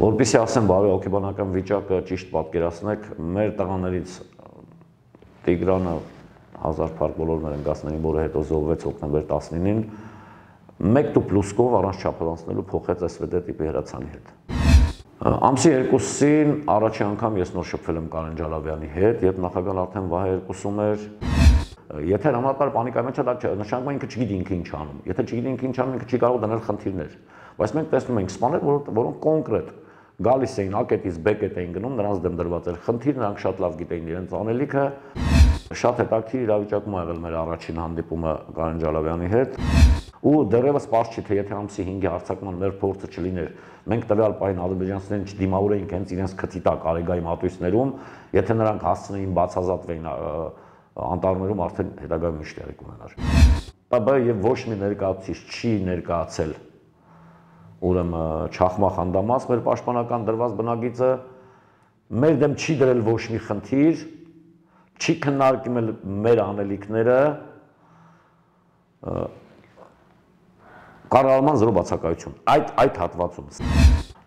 Որպեսզի ասեմ բարի հոգեբանական վիճակը ճիշտ պատկերացնեք, մեր տղաներից Տիգրանը 1000 փառք բոլորն են գասներին, որը հետո զոհվեց հոկտեմբեր 19-ին, 1 պլուսկով առանց չափազանցնելու փոխեց SVD տիպի հրացանի հետ։ Ամսի 2-ին առաջի անգամ ես նոր շփվել եմ Կարեն Ջալավյանի հետ, երբ նախագահն արդեն վահ երկուսում էր։ Եթե համապատասխան պանիկայի մեջ է, դա նշանակում է ինքը չգիտի ինքը ինչ անում։ Եթե չգիտի ինքը ինչ անում, ինքը չի կարող դնել խնդիրներ։ Բայց մենք տեսնում ենք սպաներ, որոնք կոնկրետ գալիս էին ակետից բեկետ էին գնում, նրանց դեմ դրված էր խնդիր, նրանք շատ լավ գիտեին իրենց անելիքը։ Շատ հետաքրքիր իրավիճակում ա եղել մեր առաջին հանդիպումը Կարեն Ջալավյանի հետ։ Ու դեռևս պարզ չի, թե եթե ամսի 5-ի հարձակման մեր փորձը չլիներ, մենք տվյալ պահին ադրբեջանցիներին չդիմավորեինք հենց իրենց քթի տակ Արեգայի մատույցներում, եթե նրանք հասցնեին բացազատվեին անտառներում, արդեն հետագայում ինչ տեղի կունենար։ ՊԲ եւ ոչ մի ներկայացուցիչ չի ներկայացել ուրեմն Չախմա Խանդամաս, մեր պաշտպանական դրված բնագիծը մեր դեմ չի դրել ոչ մի խնդիր, չի քննարկել մեր անելիքները, կառավարման զրո բացակայություն այդ հատվածում։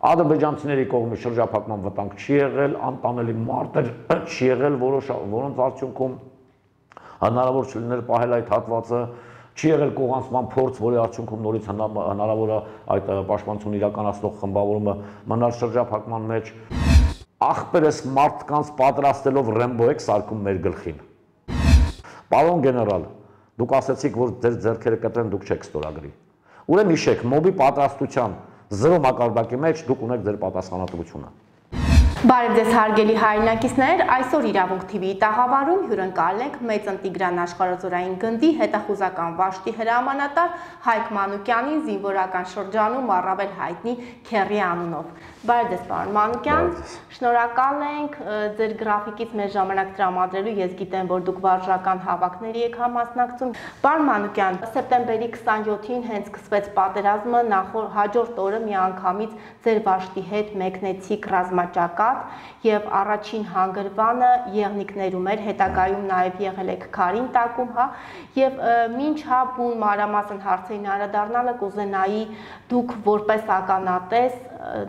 Ադրբեջանցիների կողմից շրջափակման վտանգ չի եղել, անտանելի մարտեր չի եղել, որոնց արդյունքում հնարավոր չլիներ պահել այդ հատվածը, չի եղել կողանցման փորձ, որի արդյունքում նորից հնարավոր է այդ պաշտպանություն իրականացնող խմբավորումը մնալ շրջափակման մեջ։ Ախպերս մարդկանց պատրաստելով Ռեմբո եք սարքում մեր գլխին։ Պարոն գեներալ, դուք ասացիք, որ ձեր ձեռքերը կտրեն, դուք չեք ստորագրի։ Ուրեմն հիշեք, մոբի պատրաստության զրո մակարդակի մեջ դուք ունեք ձեր պատասխանատվությունը։ Բարև ձեզ հարգելի հայրենակիցներ, այսօր Իրավունք TV-ի տաղավարում հյուրընկալ ենք Մեծն Տիգրան աշխարհազորային գնդի հետախուզական վաշտի հրամանատար Հայկ Մանուկյանին զինվորական շրջանում առավել հայտնի Քեռի անունով։ Բարև ձեզ պարոն Մանուկյան, շնորհակալ ենք ձեր գրաֆիկից մեր ժամանակ տրամադրելու, ես գիտեմ, որ դուք վարժական հավաքների եք համասնակցում։ Պարոն Մանուկյան, սեպտեմբերի 27-ին հենց սկսվեց պատերազմը, հաջորդ օրը միանգամից ձեր վաշտի հետ մեկնեցիք ռազմաճակատ եւ առաջին հանգրվանը եղնիկներում էր, հետագայում նաեւ եղել եք քարին տակում, հա, եւ մինչ հա բուն մանրամասն հարցերին անդրադառնալը կուզենայի դուք որպես ականատես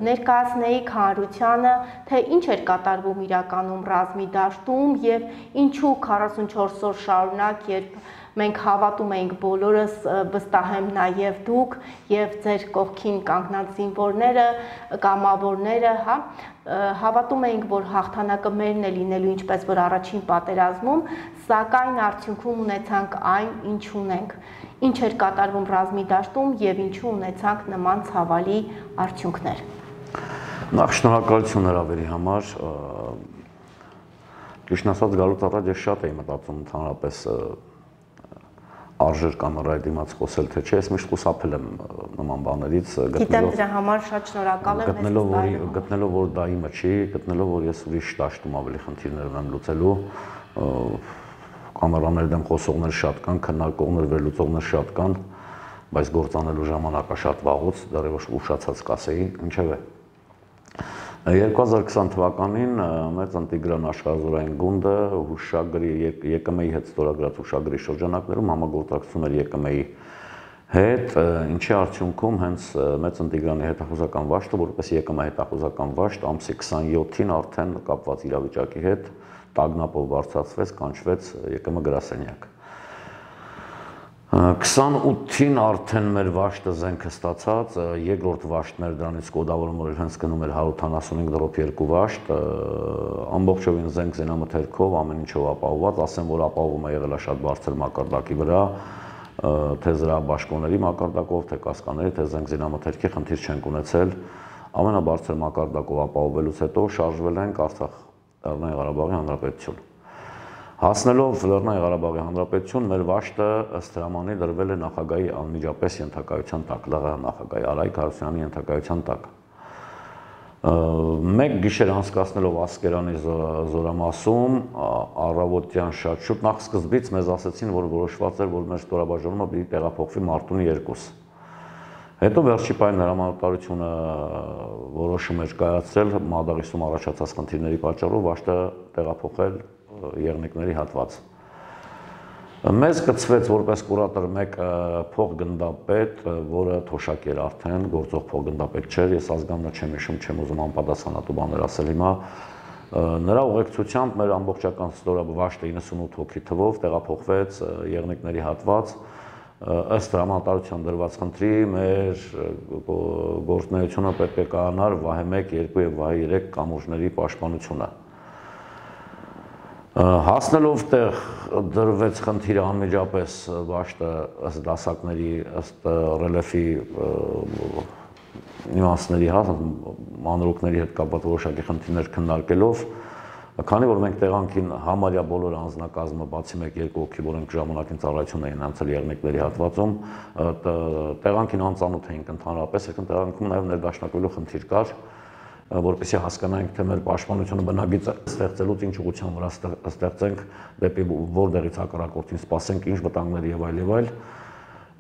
ներկայացնեիք հանրությանը, թե ինչ էր կատարվում իրականում ռազմի դաշտում եւ ինչու 44 օր շարունակ, երբ մենք հավատում էինք բոլորս, վստահ եմ նաև դուք եւ ձեր կողքին կանգնած զինվորները, կամավորները, հա, հավատում էինք, որ հաղթանակը մերն է լինելու, ինչպես որ առաջին պատերազմում, սակայն արդյունքում ունեցանք այն, ինչ ունենք։ Ինչ էր կատարվում ռազմի դաշտում եւ ինչու ունեցանք նման ցավալի արդյունքներ։ Նախ շնորհակալություն հրավերի համար։ Ճիշտ ասած գալուց առաջ ես շատ էի մտածում ընդհանրապես արժեր կամերայի դիմաց խոսել, թե չէ, ես միշտ խուսափել եմ նման բաներից, գիտեմ դրա համար շատ շնորհակալ եմ, գտնելով որ դա իմը չի, գտնելով որ ես ուրիշ դաշտում ավելի խնդիրներ ունեմ լուծելու, կամերաների դեմ խոսողներ շատ կան, քննարկողներ, վերլուծողներ շատ կան, բայց գործանելու ժամանակը շատ վաղուց, դեռևս ուշացած կասեի, ինչևէ։ 2020 թվականին Մեծն Տիգրան աշխարհազորային գունդը հուշագրի ԵԿՄ-ի հետ ստորագրած հուշագրի շրջանակներում համագործակցում էր ԵԿՄ-ի հետ, ինչի արդյունքում հենց Մեծն Տիգրանի հետախուզական վաշտը, որպես ԵԿՄ հետախուզական վաշտ, ամսի 27-ին արդեն կապված իրավիճակի հետ տագնապով բարձրացվեց, կանչվեց ԵԿՄ գրասենյակ։ 28-ին արդեն մեր վաշտը զենքը ստացած, երկրորդ վաշտն էր դրանից կոդավորում, որ հենց գնում էր 155-2 վաշտ, ամբողջովին զենք զենամթերքով, ամեն ինչով ապահովված, ասեմ, որ ապահովում է եղել է շատ բարձր մակարդակի վրա, թե զրահաբաշխոնների մակարդակով, թե կասկաների, թե զենք զենամթերքի խնդիր չենք ունեցել, ամենաբարձր մակարդակով ապահովելուց հետո շարժվել ենք Արցախ, Լեռնային Ղարաբաղի Հանրապետություն։ Հասնելով Լեռնային Ղարաբաղի Հանրապետություն, մեր վաշտը ըստ հրամանի դրվել է նախագահի անմիջապես ենթակայության տակ, ԼՂՀ նախագահի Արայիկ Հարությունյանի ենթակայության տակ։ Մեկ գիշեր անցկացնելով Ասկերանի զորամասում, առավոտյան շատ շուտ նախ սկզբից մեզ ասացին, որ որոշված էր, որ մեր ստորաբաժանումը պիտի տեղափոխվի Մարտունի 2։ Հետո վերջի պահին հրամանատարությունը որոշում էր կայացրել Մադաղիսում առաջացած խնդիրների պատճառով վաշտը տեղափոխել եղնիկների հատված։ Մեզ կցվեց որպես կուրատոր մեկ փոխգնդապետ, որը թոշակ էր արդեն, գործող փոխգնդապետ չէր, ես ազգանունը չեմ հիշում, չեմ ուզում անպատասխանատու բաներ ասել հիմա։ Նրա ուղեկցությամբ մեր ամբողջական ստորաբաշտը 98 հոգի թվով տեղափոխվեց Եղնիկների հատված, ըստ հրամանատարության դրված խնդրի մեր գործունեությունը պետք է կայանար Վահե 1, 2 եւ Վահե 3 կամուրջների պաշտպանությունը։ Հասնելով տեղ դրվեց խնդիրը անմիջապես բաշտը ըստ դասակների, ըստ ռելեֆի նյուանսների, մանրուքների հետ կապված որոշակի խնդիրներ քննարկելով, քանի որ մենք տեղանքին համարյա բոլոր անձնակազմը բացի 1-2 հոգի, որոնք ժամանակին ծառայություն էին անցել Եղնիկների հատվածում, տեղանքին անծանոթ էինք ընդհանրապես, այսինքն տեղանքում նաև ներդաշնակվելու խնդիր կար, որպեսզի հասկանանք, թե մեր պաշտպանությունը բնագիծը ստեղծելուց ինչ ուղղության վրա ստեղծենք, դեպի որտեղից հակառակորդին սպասենք, ինչ վտանգներ եւ այլ։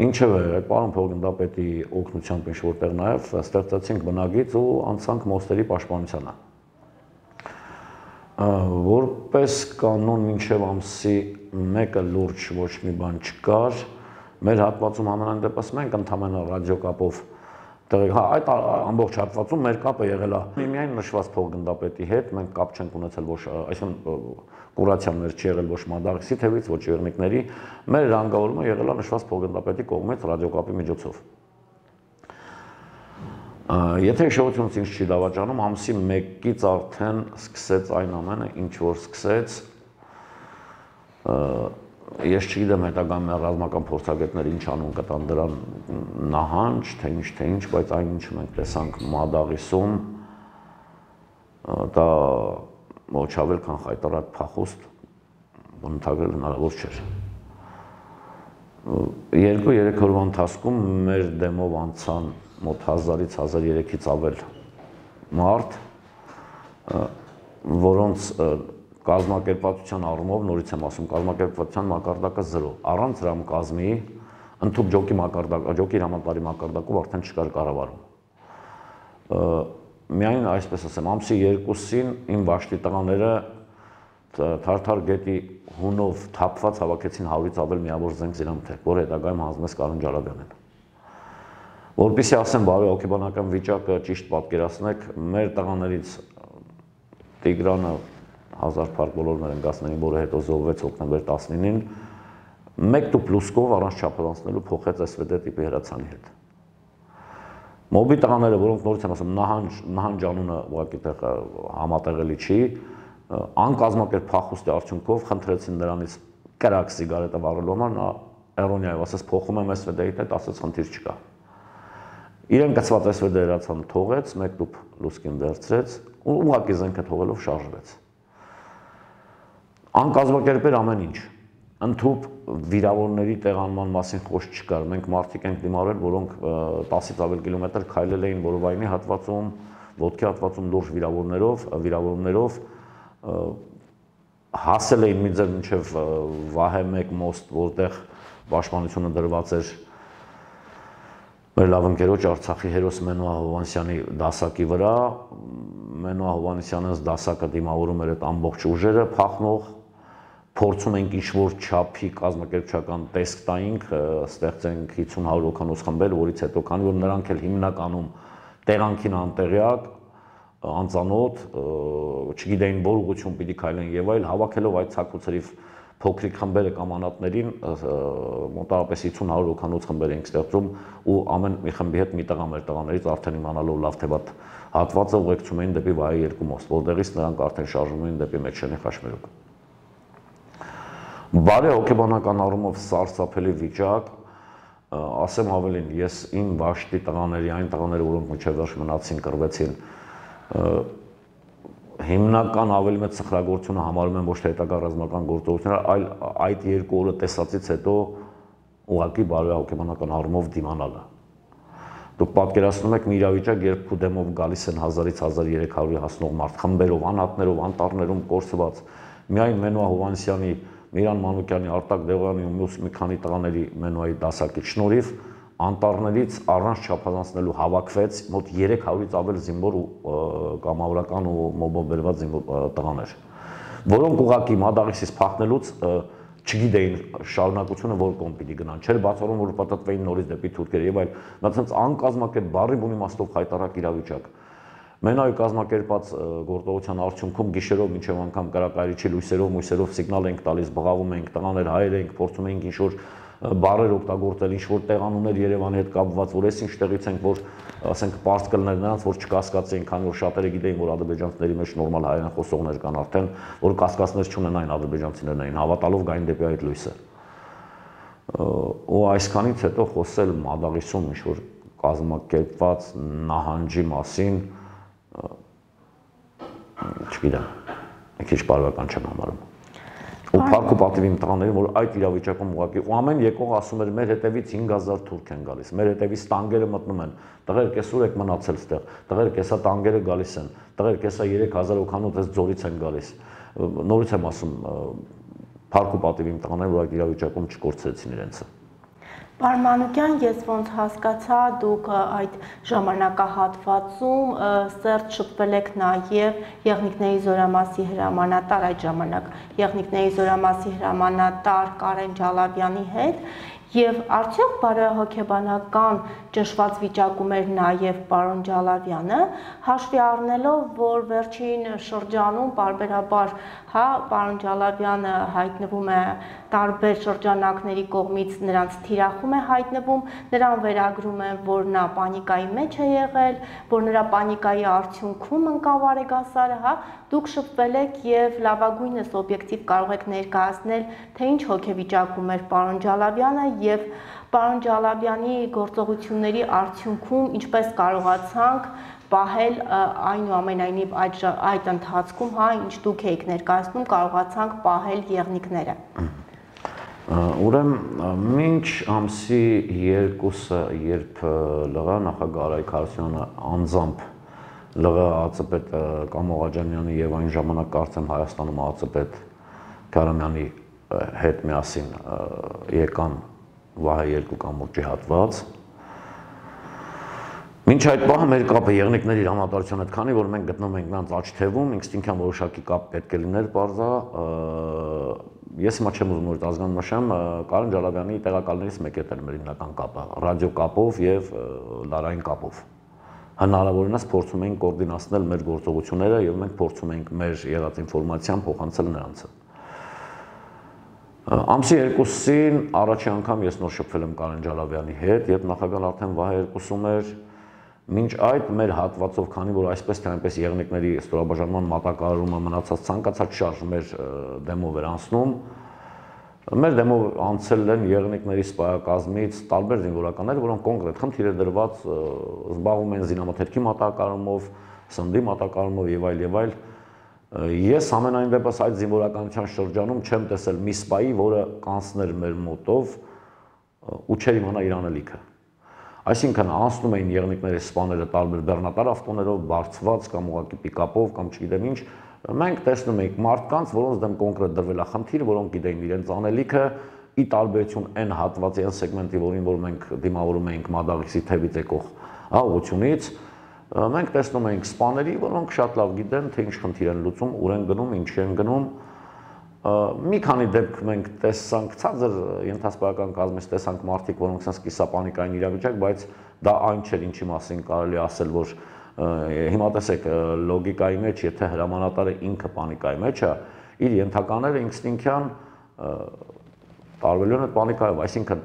Ինչևէ, այդ պարոն փոխգնդապետի օգնությամբ ինչ որտեղ նաեւ ստեղծեցինք բնագիծ ու անցանք մոստերի պաշտպանությանը։ Որպես կանոն մինչև ամսի 1-ը լուրջ ոչ մի բան չկար, մեր հատվածում ամենայն դեպս մենք ընդհանրապես ռադիոկապով այդ ամբողջ հատվածում մեր կապը եղել է միայն նշված փոխգնդապետի հետ, մենք կապ չենք ունեցել ոչ, այսինքն կուրացիան մեր չի եղել ոչ Մադաղիսի թևից, ոչ Եղնիկների, մեր հրանգավորումը եղել է նշված փոխգնդապետի կողմից ռադիոկապի միջոցով։ Եթե հիշողությունս ինձ չի դավաճանում, ամսի 1-ից արդեն սկսեց այն ամենը, ինչ որ սկսեց, ես չգիտեմ հետագայում ռազմական փորձագետները ինչ անուն կտան դրան նահանջ, թե ինչ, բայց այն ինչը մենք տեսանք Մադաղիսում, դա ոչ ավել քան խայտարակ փախուստ բնութագրել հնարավոր չէր։ 2-3 օրվա ընթացքում մեր դեմով անցան մոտ 1000-ից 1300-ից ավել մարդ, որոնց կազմակերպվածության առումով, նորից եմ ասում, կազմակերպվածության մակարդակը 0, առանց ռամկազմի, ընդհանուր ջոկի մակարդակ, ջոկի հրամանատարի մակարդակով արդեն չկար կառավարում։ Միայն այսպես ասեմ, ամսի 2-ին իմ բաշտի տղաները Թարթար գետի հունով թափված հավաքեցին 100-ից ավել միավոր զենք զինամթերք, որ հետագայում հանձնեց Կարեն Ջարաբյանին։ Որպեսզի ասեմ, բարի հոգեբանական վիճակը ճիշտ պատկերացնեք, մեր տղաներից Տիգրանը 1000 փառք բոլորներ են գասներին, որը հետո զոհվեց հոկտեմբեր 19-ին, 1 տուփ լուսկով առանց չափազանցնելու փոխեց SVD տիպի հրացանի հետ։ Մոբի տղաները, որոնք նորից եմ ասում, նահանջ անունը ուղղակի համատեղելի չի, անկազմակերպ փախուստի արդյունքով խնդրեցին նրանից կրակ սիգարետը վառելու համար, նա էրոնիայով ասեց փոխում եմ SVD-ի հետ, ասեց խնդիր չկա։ Իրեն գծված SVD հրացանը թողեց, 1 տուփ լուսկին վերցրեց ու ուղղակի զենքը թողելով շարժվեց։ Անկազմակերպեր ամեն ինչ, ընդհուպ վիրավորների տեղանման մասին խոսք չկար, մենք մարդիկ ենք դիմարել, որոնք 10-ից ավել կիլոմետր քայլել էին Որովայնի հատվածում, ոտքի հատվածում լուրջ վիրավորներով, հասել էին մի ձեր մինչև Վահե 1 մոստ, որտեղ պաշտպանությունը դրված էր մեր լավ ընկերոջ Արցախի հերոս Մենուա Հովհաննիսյանի դասակի վրա, Մենուա Հովհաննիսյանը դասակը դիմավորում էր այդ ամբողջ ուժերը փախնող, փորձում ենք ինչ-որ չափի կազմակերպչական տեսք տայինք, ստեղծենք 50-100 հոգանոց խմբեր, որից հետո, քանի որ նրանք էլ հիմնականում տեղանքին անտեղյակ, անծանոթ, չգիտեին որ ուղղություն պիտի քայլեն եւ այլ, հավաքելով այդ ցակուցերիվ փոքրիկ խմբերը կամ անատներին, մոտավորապես 50-100 հոգանոց խմբեր ենք ստեղծում ու ամեն մի խմբի հետ մի տղա մեր տղաներից արդեն իմանալով լավ թե վատ հատվածը ուղեկցում էին դեպի Վահե 2 մոստ, որտեղից նրանք արդեն շարժվում էին դեպի Մեջշենի Խաշմերուկ։ Բարի հոգեբանական առումով սարսափելի վիճակ, ասեմ ավելին, ես իմ բաշտի տղաների, այն տղաները, որոնք մինչև վերջ մնացին, կռվեցին, հիմնական ավելի մեծ սխրագործությունը համարում են ոչ թե հետագա ռազմական գործողությունները, այլ այդ 2 օրը տեսածից հետո ուղղակի բարի հոգեբանական առումով դիմանալը։ Դուք պատկերացնում եք մի իրավիճակ, երբ քու դեմով գալիս են 1000-ից 1300-ի հասնող մարդ, խմբերով, անհատներով, անտառներում կորսված, միայն Մենուա Հովհաննիսյանի, Միրան Մանուկյանի, Արտակ Դեղոյանի ու մյուս մի քանի տղաների Մենուայի դասակի շնորհիվ անտառներից առանց չափազանցնելու հավաքվեց մոտ 300-ից ավել զինվոր ու կամավորական ու մոբով բերված տղաներ, որոնք ուղղակի Մադաղիսից փախնելուց չգիտեին շարունակությունը որ կողմ պիտի գնան, չէր բացառում որ պատտվեին նորից դեպի թուրքեր եւ այլ, նա ցած անկազմակերպ բառի բուն իմաստով խայտարակ իրավիճակ։ Մենայու կազմակերպած գործողության արդյունքում գիշերով մինչև անգամ կրակայրիչի լույսերով սիգնալ ենք տալիս, բղավում ենք, տղաներ հայեր ենք, փորձում ենք ինչ-որ բառեր օգտագործել, ինչ-որ տեղանուններ Երևանի հետ կապված, որ այս ինչ տեղից ենք, որ ասենք պարզ կլներ նրանց, որ չկասկածեին, քանի որ շատերը գիտեին, որ ադրբեջանցիների մեջ նորմալ հայերեն խոսողներ կան արդեն, որ կասկածներ չունենային ադրբեջանցիներն էին, հավատալով գային դեպի այդ լույսը։ Ու այսքանից հետո խոսել Մադաղիսում ինչ-որ կազմակերպված նահանջի մասին չգիտեմ, մի քիչ բարոյական չեմ համարում։ Ու փառք ու պատիվ իմ տղաներին, որ այդ իրավիճակում ուղղակի ու ամեն եկող ասում էր մեր հետևից 5000 թուրք են գալիս, մեր հետևից տանկերը մտնում են, տղերք այսօր եք մնացել ստեղ, տղերք հեսա տանկերը գալիս են, տղերք հեսա 3000 օքանոց այս ձորից են գալիս։ Նորից եմ ասում, փառք ու պատիվ իմ տղաներին, որ այդ իրավիճակում չկորցրեցին իրենցը։ Պարոն Մանուկյան, ես ոնց հասկացա, դուք այդ ժամանակահատվածում սերտ շփվել եք նաև Եղնիկների զորամասի հրամանատար այդ ժամանակ, Եղնիկների զորամասի հրամանատար Կարեն Ջալավյանի հետ, եւ արդյոք բարոյահոգեբանական ճնշված վիճակում էր նաև պարոն Ջալավյանը, հաշվի առնելով, որ վերջին շրջանում պարբերաբար, հա, պարոն Ջալավյանը հայտնվում է տարբեր շրջանակների կողմից նրանց թիրախում է հայտնվում, նրան վերագրում են, որ նա պանիկայի մեջ է եղել, որ նրա պանիկայի արդյունքում ընկավ Արեգասարը, հա, դուք շփվել եք եւ լավագույնս օբյեկտիվ կարող եք ներկայացնել, թե ինչ հոգեվիճակում էր պարոն Ջալավյանը եւ պարոն Ջալավյանի գործողությունների արդյունքում ինչպես կարողացանք պահել այնուամենայնիվ այդ ընթացքում, հա, ինչ դուք եք ներկայացնում, կարողացանք պահել եղնիկները։ Ուրեմն մինչ ամսի 2-ը, երբ ԼՂ նախագահ Արայք Հարությունյանը անձամբ ԼՂ ԱԾՊետ Կամո Ղաջանյանի եւ այն ժամանակ կարծեմ Հայաստանում ԱԾՊետ Քարամյանի հետ միասին եկան Վահե 2 կամուրջի հատված։ Մինչ այդ պահը մեր կապը եղնիկների հրամանատարության հետ, քանի որ մենք գտնվում ենք նրանց աջ թևում, ինստինկտիվ որոշակի կապ պետք է լիներ բարձա, ես հիմա չեմ ուզում նորից ազգանուն նշեմ, Կարեն Ջալավյանի տեղակալներից մեկը էր մեր հիմնական կապը, ռադիո կապով եւ լարային կապով։ Հնարավորինս փորձում ենք կոորդինացնել մեր գործողությունները եւ մենք փորձում ենք մեր եղած ինֆորմացիան փոխանցել նրանց։ Ամսի 2-ին առաջի անգամ ես նոր շփվել եմ Կարեն Ջալավյանի հետ, երբ նախագահն արդեն Վահե 2-ում էր, մինչ այդ մեր հատվածով, քանի որ այսպես թե այնպես եղնիկների ստորաբաժանման մատակարարումը մնացած ցանկացած շարժ մեր դեմով էր անցնում, մեր դեմով անցել են եղնիկների սպայակազմից տարբեր զինվորականներ, որոնք կոնկրետ խնդիր է դրված, զբաղվում են զինամթերքի մատակարարումով, սննդի մատակարարումով եւ այլ։ Ես ամենայն դեպս այդ զինվորականության շրջանում չեմ տեսել մի սպայի, որը կանցներ մեր մոտով ու չէր իմանա իր անելիքը։ Այսինքն անցնում էին եղնիկների սպաները տարբեր բեռնատար ավտոներով, բարձված կամ ուղղակի պիկապով կամ չգիտեմ ինչ, մենք տեսնում էինք մարդկանց, որոնց դեմ կոնկրետ դրվել է խնդիր, որոնք գիտեին իրենց անելիքը, ի տարբերություն այն հատվածի, այն սեգմենտի, որին որ մենք դիմավորում էինք Մադաղիսի թևից եկող ուղղությունից, մենք տեսնում էինք սպաների, որոնք շատ լավ գիտեն, թե ինչ խնդիր են լուծում, ուր են գնում, ինչ են գնում։ Մի քանի դեպք մենք տեսանք, ցածր ենթասպայական կազմից տեսանք մարդիկ, որոնք sense կիսապանիկային իրավիճակ, բայց դա այն չէր, ինչի մասին կարելի ասել, որ հիմա տեսեք լոգիկայի մեջ, եթե հրամանատարը ինքը պանիկայի մեջ է, իր ենթակաները ինստինկտիվ տարվելու են այդ պանիկայով, այսինքն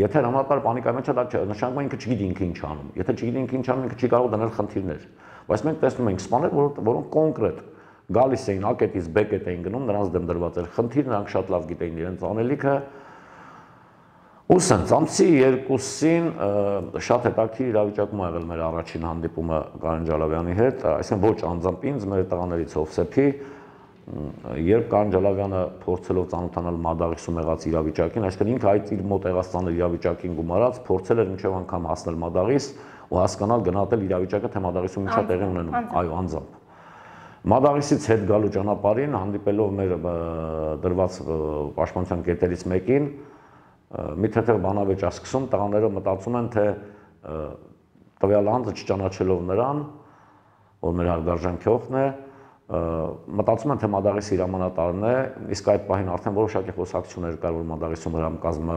եթե հրամանատարը պանիկայի մեջ է, դա նշանակում է ինքը չգիտի ինքը ինչ անում, եթե չգիտի ինքը ինչ անում, ինքը չի կարող դնել խնդիրներ, բայց մենք տեսնում ենք սպաներ, որոնք կոնկրետ գալիս էին ակետից բեկետ էին գնում, նրանց դեմ դրված էր խնդիր, նրանք շատ լավ գիտեին իրենց անելիքը։ Ու սենց ամսի 2-ին շատ հետաքրքիր իրավիճակում ա եղել մեր առաջին հանդիպումը Կարեն Ջալավյանի հետ, այսինքն ոչ անձամբ ինձ, մեր տղաներից Հովսեփի, երբ Կարեն Ջալավյանը փորձելով ծանոթանալ Մադաղիսում եղած իրավիճակին, այսինքն ինքը այդ իր մոտ եղած ծանր իրավիճակին գումարած, փորձել էր մինչև անգամ հասնել Մադաղիս ու հասկանալ գնահատել իրավիճակը, թե Մադաղիսում ինչա տեղի ունենում, այո, անձամբ։ Մադաղիսից հետ գալու ճանապարհին հանդիպելով մեր դրված պաշտպանության կետերից մեկին, մի թեթև բանավեճ ասկսում, տղաները մտածում են, թե տվյալ անձը չճանաչելով նրան, որ մեր հարգարժան քյոխն է, մտածում եմ, թե Մադաղիսի հրամանատարն է, իսկ այդ պահին արդեն որոշակի խոսակցություններ կար, որ Մադաղիսում հրամկազմը,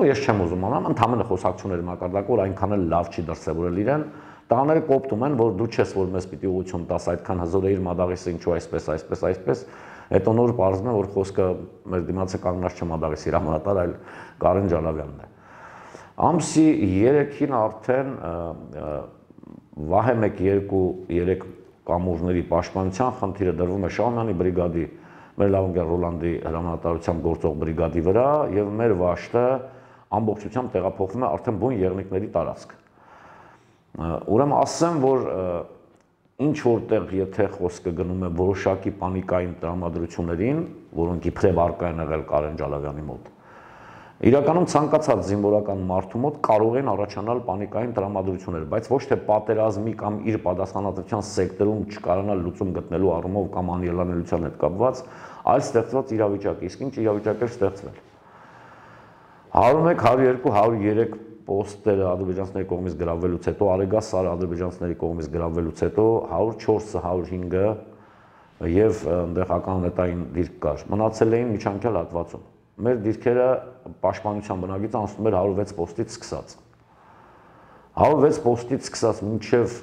ես չեմ ուզում անամ, ընդհանրապես խոսակցությունների մակարդակը, որ այնքան էլ լավ չի դրսևորել իրեն, տղաները կոպտում են, որ դու չես, որ մեզ պիտի ուղղություն տաս, այդքան հզոր է իր Մադաղիսը, ինչու այսպես, հետո նոր պարզվում է, որ խոսքը մեր դիմացը կանգնած չէ Մադաղիսի հրամանատար, այլ Կարեն Ջալավյանն է։ Ամսի 3-ին արդեն Վահե 1-2-3 կամուրջների պաշտպանության խնդիրը դրվում է Շահումյանի բրիգադի, մեր Լավունգյան Ռոլանդի հրամանատարությամբ գործող բրիգադի վրա եւ մեր վաշտը ամբողջությամբ տեղափոխվում է արդեն բուն եղնիկների տարածք։ Ուրեմն ասեմ, որ ինչ որտեղ եթե խոսքը գնում է որոշակի պանիկային տրամադրություններին, որոնք իբրև արկա են եղել Կարեն Ջալավյանի մոտ, իրականում ցանկացած զինվորական մարդու մոտ կարող են առաջանալ պանիկային տրամադրություններ, բայց ոչ թե պատերազմի կամ իր պատասխանատվության սեկտորում չկարանալ լուծում գտնելու առումով կամ անելանելիության հետ կապված, այլ ստեղծված իրավիճակ, իսկ ինչ իրավիճակ էր ստեղծվել։ 101, 102, 103 պոստերը ադրբեջանցիների կողմից գրավվելուց հետո, Արեգազ Սարը ադրբեջանցիների կողմից գրավվելուց հետո 104-ը, 105-ը եւ այնտեղ ականանետային դիրք կար, մնացել էին միջանկյալ հատվածում։ Մեր դիրքերը պաշտպանության բնագիծը անցնում էր 106 պոստից սկսած։ 106 պոստից սկսած մինչև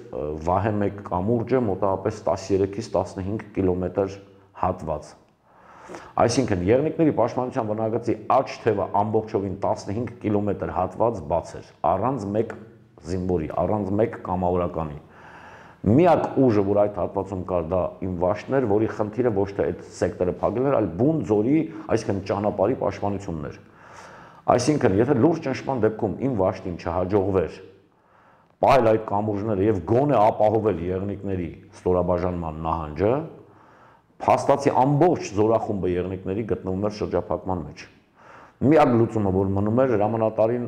Վահե 1 կամուրջը մոտավորապես 13-ից 15 կիլոմետր հատված։ Այսինքն եղնիկների պաշտպանության բնագծի աջ թևը ամբողջովին 15 կիլոմետր հատված բաց էր, առանց մեկ զինվորի, առանց մեկ կամավորականի։ Միակ ուժը, որ այդ հատվածում կար, դա իմ վաշտն էր, որի խնդիրը ոչ թե այդ սեկտորը փակելն էր, այլ բուն ձորի, այսինքն ճանապարհի պաշտպանությունն էր։ Այսինքն, եթե լուրջ ճնշման դեպքում իմ վաշտին չհաջողվեր պահել այդ կամուրջները եւ գոնե ապահովել եղնիկների ստորաբաժանման նահանջը, փաստացի ամբողջ զորախումբը եղնիկների գտնվում էր շրջափակման մեջ։ Միակ լուծումը, որ մնում էր, հրամանատարին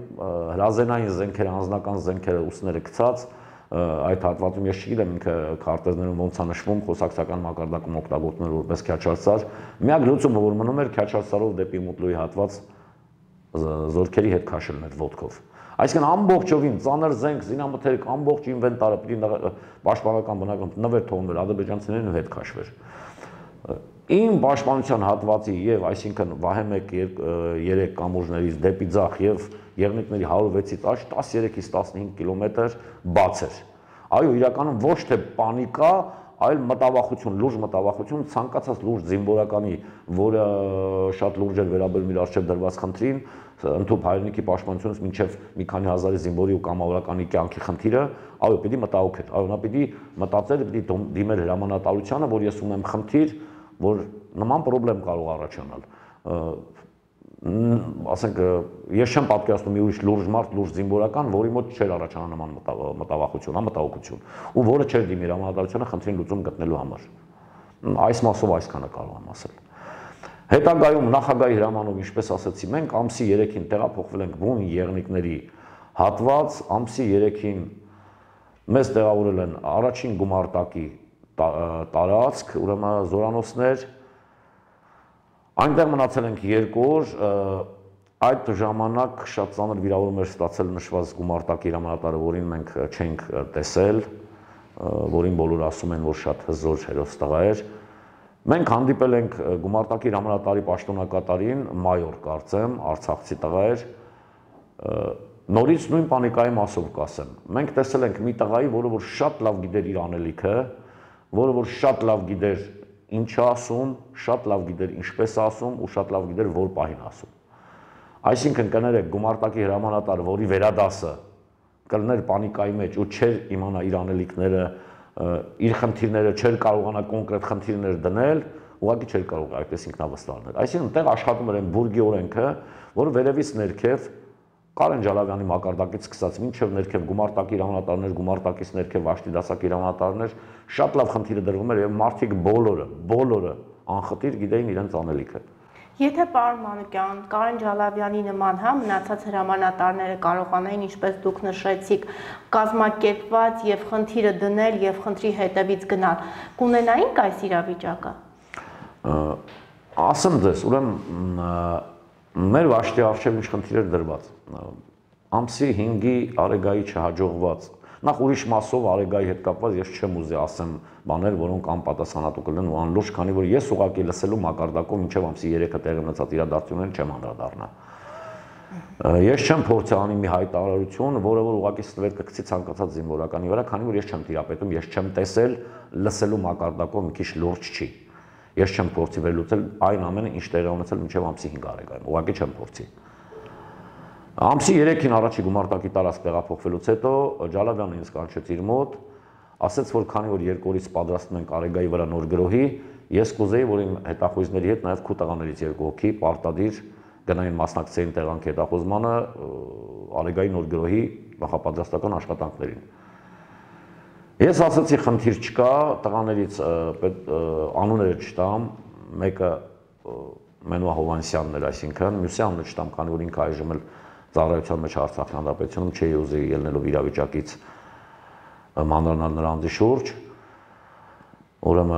հրազենային զենքերը, անձնական զենքերը ուսները գցած, այդ հատվածում ես չգիտեմ ինքը քարտեզներում ոնց է նշվում, խոսակցական մակարդակում օգտագործվում էր որպես քյաչարսար։ Միակ լուծումը, որ մնում էր, քյաչարսարով դեպի Մուտլուի հատված զորքերի հետ քաշելն էր ոտքով։ Այսինքն ամբողջովին ծանր զենք, զինամթերք, ամբողջ ինվենտարը պիտի պաշտպանական բնակում նվեր թողնվեր ադրբեջանցիներին ու հետ քաշվեր։ Իմ պաշտպանության հատվածի եւ այսինքն Վահե 1-3 կամուրջներից դեպի ձախ եւ եղնիկների 106-ից աջ 13-ից 15 կիլոմետր բաց էր։ Այո, իրականում ոչ թե պանիկա, այլ մտավախություն, լուրջ մտավախություն, ցանկացած լուրջ զինվորականի, որը շատ լուրջ էր վերաբերում իր արժեվ դրված խնդրին, ընդհանուր հայրենիքի պաշտպանությունից մինչև մի քանի հազարի զինվորի ու կամավորականի կյանքի խնդիրը, այո, պիտի մտահոգեր, այո, նա պիտի մտածեր, պիտի դիմեր հրամանատարությանը, որ ես ունեմ խնդիր, որ նման խնդրեմ կարող առաջանալ։ Ասենք, ես չեմ պատկերացնում մի ուրիշ լուրջ մարդ, լուրջ զինվորական, որի մոտ չէր առաջանա նման մտավախություն, մտահոգություն, ու որը չէր դիմի հրամանատարությանը խնդրին լուծում գտնելու համար։ Այս մասով այսքանը կարող եմ ասել։ Հետագայում նախագահի հրամանով, ինչպես ասացի, մենք ամսի 3-ին տեղափոխվել ենք բուն եղնիկների հատված, ամսի 3-ին մեզ տեղավորել են առաջին գումարտակի տարածք, ուրեմն զորանոցներ, այնտեղ մնացել ենք 2 օր, այդ ժամանակ շատ ծանր վիրավորում էր ստացել նշված գումարտակի հրամանատարը, որին մենք չենք տեսել, որին բոլորը ասում են, որ շատ հզոր հերոս տղա էր։ Մենք հանդիպել ենք գումարտակի հրամանատարի պաշտոնակատարին, մայոր կարծեմ, արցախցի տղա էր, նորից նույն պանիկայի մասով կասեմ։ Մենք տեսել ենք մի տղայի, որը որ շատ լավ գիտեր իր անելիքը, որը որ շատ լավ գիտեր ինչ է ասում, շատ լավ գիտեր ինչպես ասում ու շատ լավ գիտեր որ պահին ասում։ Այսինքն կներեք գումարտակի հրամանատար, որի վերադասը կլներ պանիկայի մեջ ու չէր իմանա իր անելիքները, իր խնդիրները չէր կարողանա կոնկրետ խնդիրներ դնել, ուղղակի չէր կարող այդպես ինքնավստահ։ Այսինքն այդտեղ աշխատում էր այն բուրգի օրենքը, որը վերևից ներքև Կարեն Ջալավյանի մակարդակից սկսած մինչև ներքև գումարտակի հրամանատարներ, գումարտակից ներքև Աշտի դասակի հրամանատարներ, շատ լավ խնդիրը դրվում էր եւ մարդիկ բոլորը անխտիր գիտեին իրենց անելիքը։ Եթե պարոն Մանուկյան, Կարեն Ջալավյանի նման մնացած հրամանատարները կարողանային, ինչպես դուք նշեցիք, կազմակերպված եւ խնդիրը դնել եւ խնդրի հետևից գնալ, կունենայինք այս իրավիճակը։ Ասեմ ձեզ, ուրեմն մեր վաշտի արժև ինչ խնդիր էր դրված։ Ամսի 5-ի Արեգայի չհաջողված, Նախ ուրիշ մասով Արեգայի հետ կապված ես չեմ ուզի ասեմ բաներ, որոնք անպատասխանատու կլինեն ու անլուրջ, քանի որ ես ուղղակի լսելու մակարդակով մինչև ամսի 3-ը տեղի ունեցած իրադարձություններին չեմ անդրադառնա։ Ես չեմ փորձի անի մի հայտարարություն, որը որ ուղղակի ստվեր կգցի ցանկացած զինվորականի վրա, քանի որ ես չեմ տիրապետում, ես չեմ տեսել, լսելու մակարդակով մի քիչ լուրջ չի։ Ես չեմ փորձի վերլուծել այն ամենը, ինչ տեղի ունեցել մինչև ամսի 5 Արեգայում, ուղղակի չեմ փորձի։ Ամսի 3-ին առաջի գումարտակի տարածք տեղափոխվելուց հետո Ջալավյանը ինձ կանչեց իր մոտ, ասաց, որ քանի որ 2 օրից պատրաստում ենք Արեգայի վրա նոր գրոհի, ես կուզեի, որ իմ հետախույզների հետ նաև քու տղաներից 2 հոգի պարտադիր գնային մասնակցեին տեղանք հետախուզմանը Արեգայի նոր գրոհի նախապատրաստական աշխատանքներին։ Ես ասացի, խնդիր չկա, տղաներից անունները չտամ, մեկը Մենուա Հովանեսյանն էր, այսինքն մյուսի անունը չտամ, քանի որ ինքը այժմ էլ ծառայության մեջ Արցախի հանրապետությունում չէի ուզի ելնելով իրավիճակից մանրանալ նրա անձի շուրջ։ Ուրեմն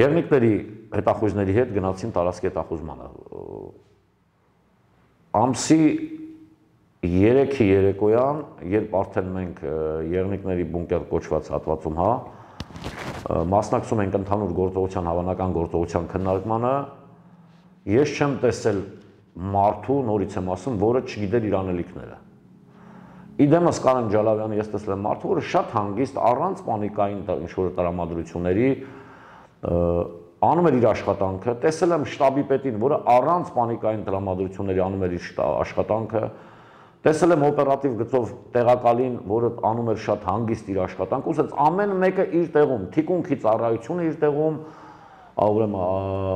եղնիկների հետախույզների հետ գնացին տարածքի հետախուզմանը։ Ամսի 3-ի երեկոյան, երբ արդեն մենք եղնիկների բունկեր կոչված հատվածում մասնակցում ենք ընդհանուր գործողության, հավանական գործողության քննարկմանը, ես չեմ տեսել մարդու, նորից եմ ասում, որը չգիտեր իր անելիքները։ Իդեմս Կարեն Ջալավյանը ես տեսել եմ մարդու, որը շատ հանգիստ, առանց պանիկային ինչ-որ տրամադրությունների անում էր իր աշխատանքը, տեսել եմ շտաբի պետին, որը առանց պանիկային տրամադրությունների անում էր իր աշխատանքը, տեսել եմ օպերատիվ գծով տեղակալին, որը անում էր շատ հանգիստ իր աշխատանքը, ուսած ամեն մեկը իր տեղում, թիկունքի ծառայությունը իր տեղում, ուրեմն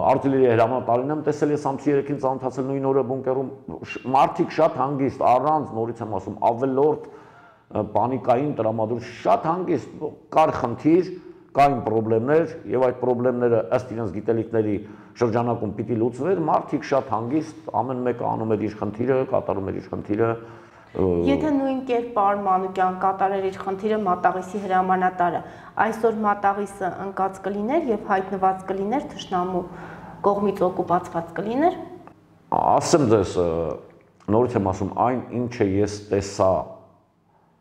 արտիլերիայի հրամանատարին եմ տեսել, ես ամսի 3-ին ծանոթացել նույն օրը բունկերում, մարդիկ շատ հանգիստ, առանց, նորից եմ ասում, ավելորդ պանիկային տրամադրություն, շատ հանգիստ, կար խնդիր, կային պրոբլեմներ, եւ այդ պրոբլեմները ըստ իրենց գիտելիքների շրջանակում պիտի լուծվեր, մարդիկ շատ հանգիստ, ամեն մեկը անում էր իր խնդիրը, կատարում էր իր խնդիրը։ Եթե նույն կերպ պարոն Մանուկյան կատարեր իր խնդիրը Մատաղիսի հրամանատարը, այսօր Մատաղիսը ընկած կլիներ եւ հայտնված կլիներ թշնամու կողմից օկուպացված կլիներ։ Ասեմ ձեզ, նորից եմ ասում, այն ինչը ես տեսա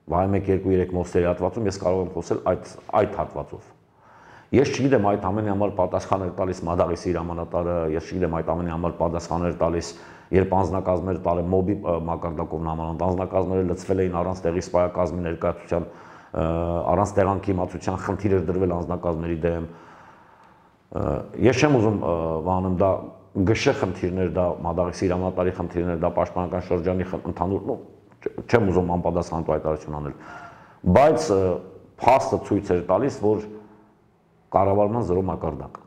վայ 1-2-3 մոստերի հատվածում, ես կարող եմ խոսել այդ հատվածով։ Ես չգիտեմ այդ ամենի համար պատասխան էր տալիս Մատաղիսի հրամանատարը, ես չգիտեմ այդ ամենի համար պատասխան էր տալիս, երբ անձնակազմեր տալ է մոբի մակարդակով նամանանդ, անձնակազմերը լծվել էին առանց տեղի սպայակազմի ներկայացության, առանց տեղանքի իմացության խնդիր էր դրվել անձնակազմերի դեմ։ Ես չեմ ուզում վանում դա գշե խնդիրներ, դա Մատաղիսի հրամանատարի խնդիրներ, դա պաշտպանական շրջանի ընդհանուր, չեմ ուզում անպատասխանատու հայտարարություն անել, բայց փաստը ցույց էր տալիս, որ կառավարման զրո մակարդակ։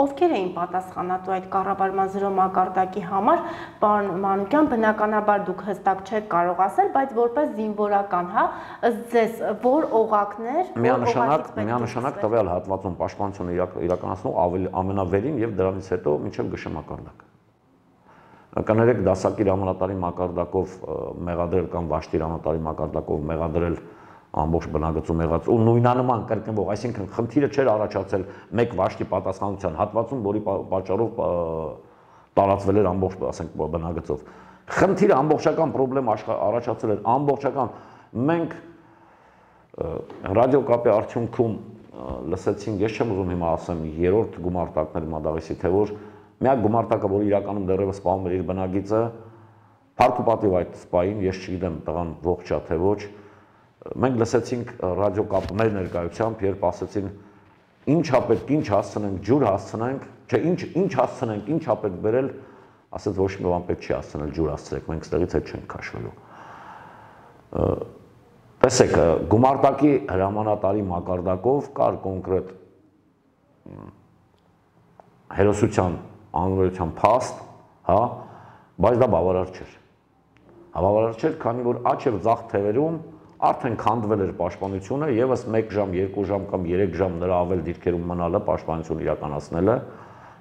Ովքեր էին պատասխանատու այդ կառավարման զրո մակարդակի համար, պարոն Մանուկյան, բնականաբար դուք հստակ չեք կարող ասել, բայց որպես զինվորական, ըստ ձեզ որ օղակներ, միանշանակ տվյալ հատվածում պաշտպանությունը իրականացնող ամենավերին եւ դրանից հետո մինչեւ գշե մակարդակ։ Կներեք դասակի հրամանատարի մակարդակով մեղադրել կամ վաշտի հրամանատարի մակարդակով մեղադրել ամբողջ բնագծում եղած ու նույնանման կրկնվող, այսինքն խնդիրը չէր առաջացել մեկ վաշտի պատասխանատվության հատվածում, որի պատճառով տարածվել էր ամբողջ, ասենք, բնագծով։ Խնդիրը ամբողջական պրոբլեմ առաջացել էր ամբողջական։ Մենք ռադիոկապի արդյունքում լսեցինք, ես չեմ ուզում հիմա ասեմ 3-րդ գումարտակներ Մատաղիսի, թե որ միակ գումարտակը, որ իրականում դեռևս սպանում էր իր բնագիծը, փառք ու պատիվ այդ սպային, ես չգիտեմ տղան ողջ է թե ոչ, մենք լսեցինք ռադիոկապը մեր ներկայությամբ, երբ ասեցին ինչա պետք, ինչ հասցնենք, ջուր հասցնենք, չէ, ինչ հասցնենք, ինչա պետք բերել, ասեց ոչ մի բան պետք չի հասցնել, ջուր հասցրեք, մենք ստեղից հետ չենք քաշվելու։ Տեսեք, գումարտակի հրամանատարի մակարդակով կար կոնկրետ հերոսության անորոշության փաստ, բայց դա բավարար չէր։ Բավարար չէր, քանի որ աճ եւ ձախ թևերում արդեն քանդվել էր պաշտպանությունը, եւս 1 ժամ, 2 ժամ կամ 3 ժամ նրա ավել դիրքերում մնալը, պաշտպանություն իրականացնելը,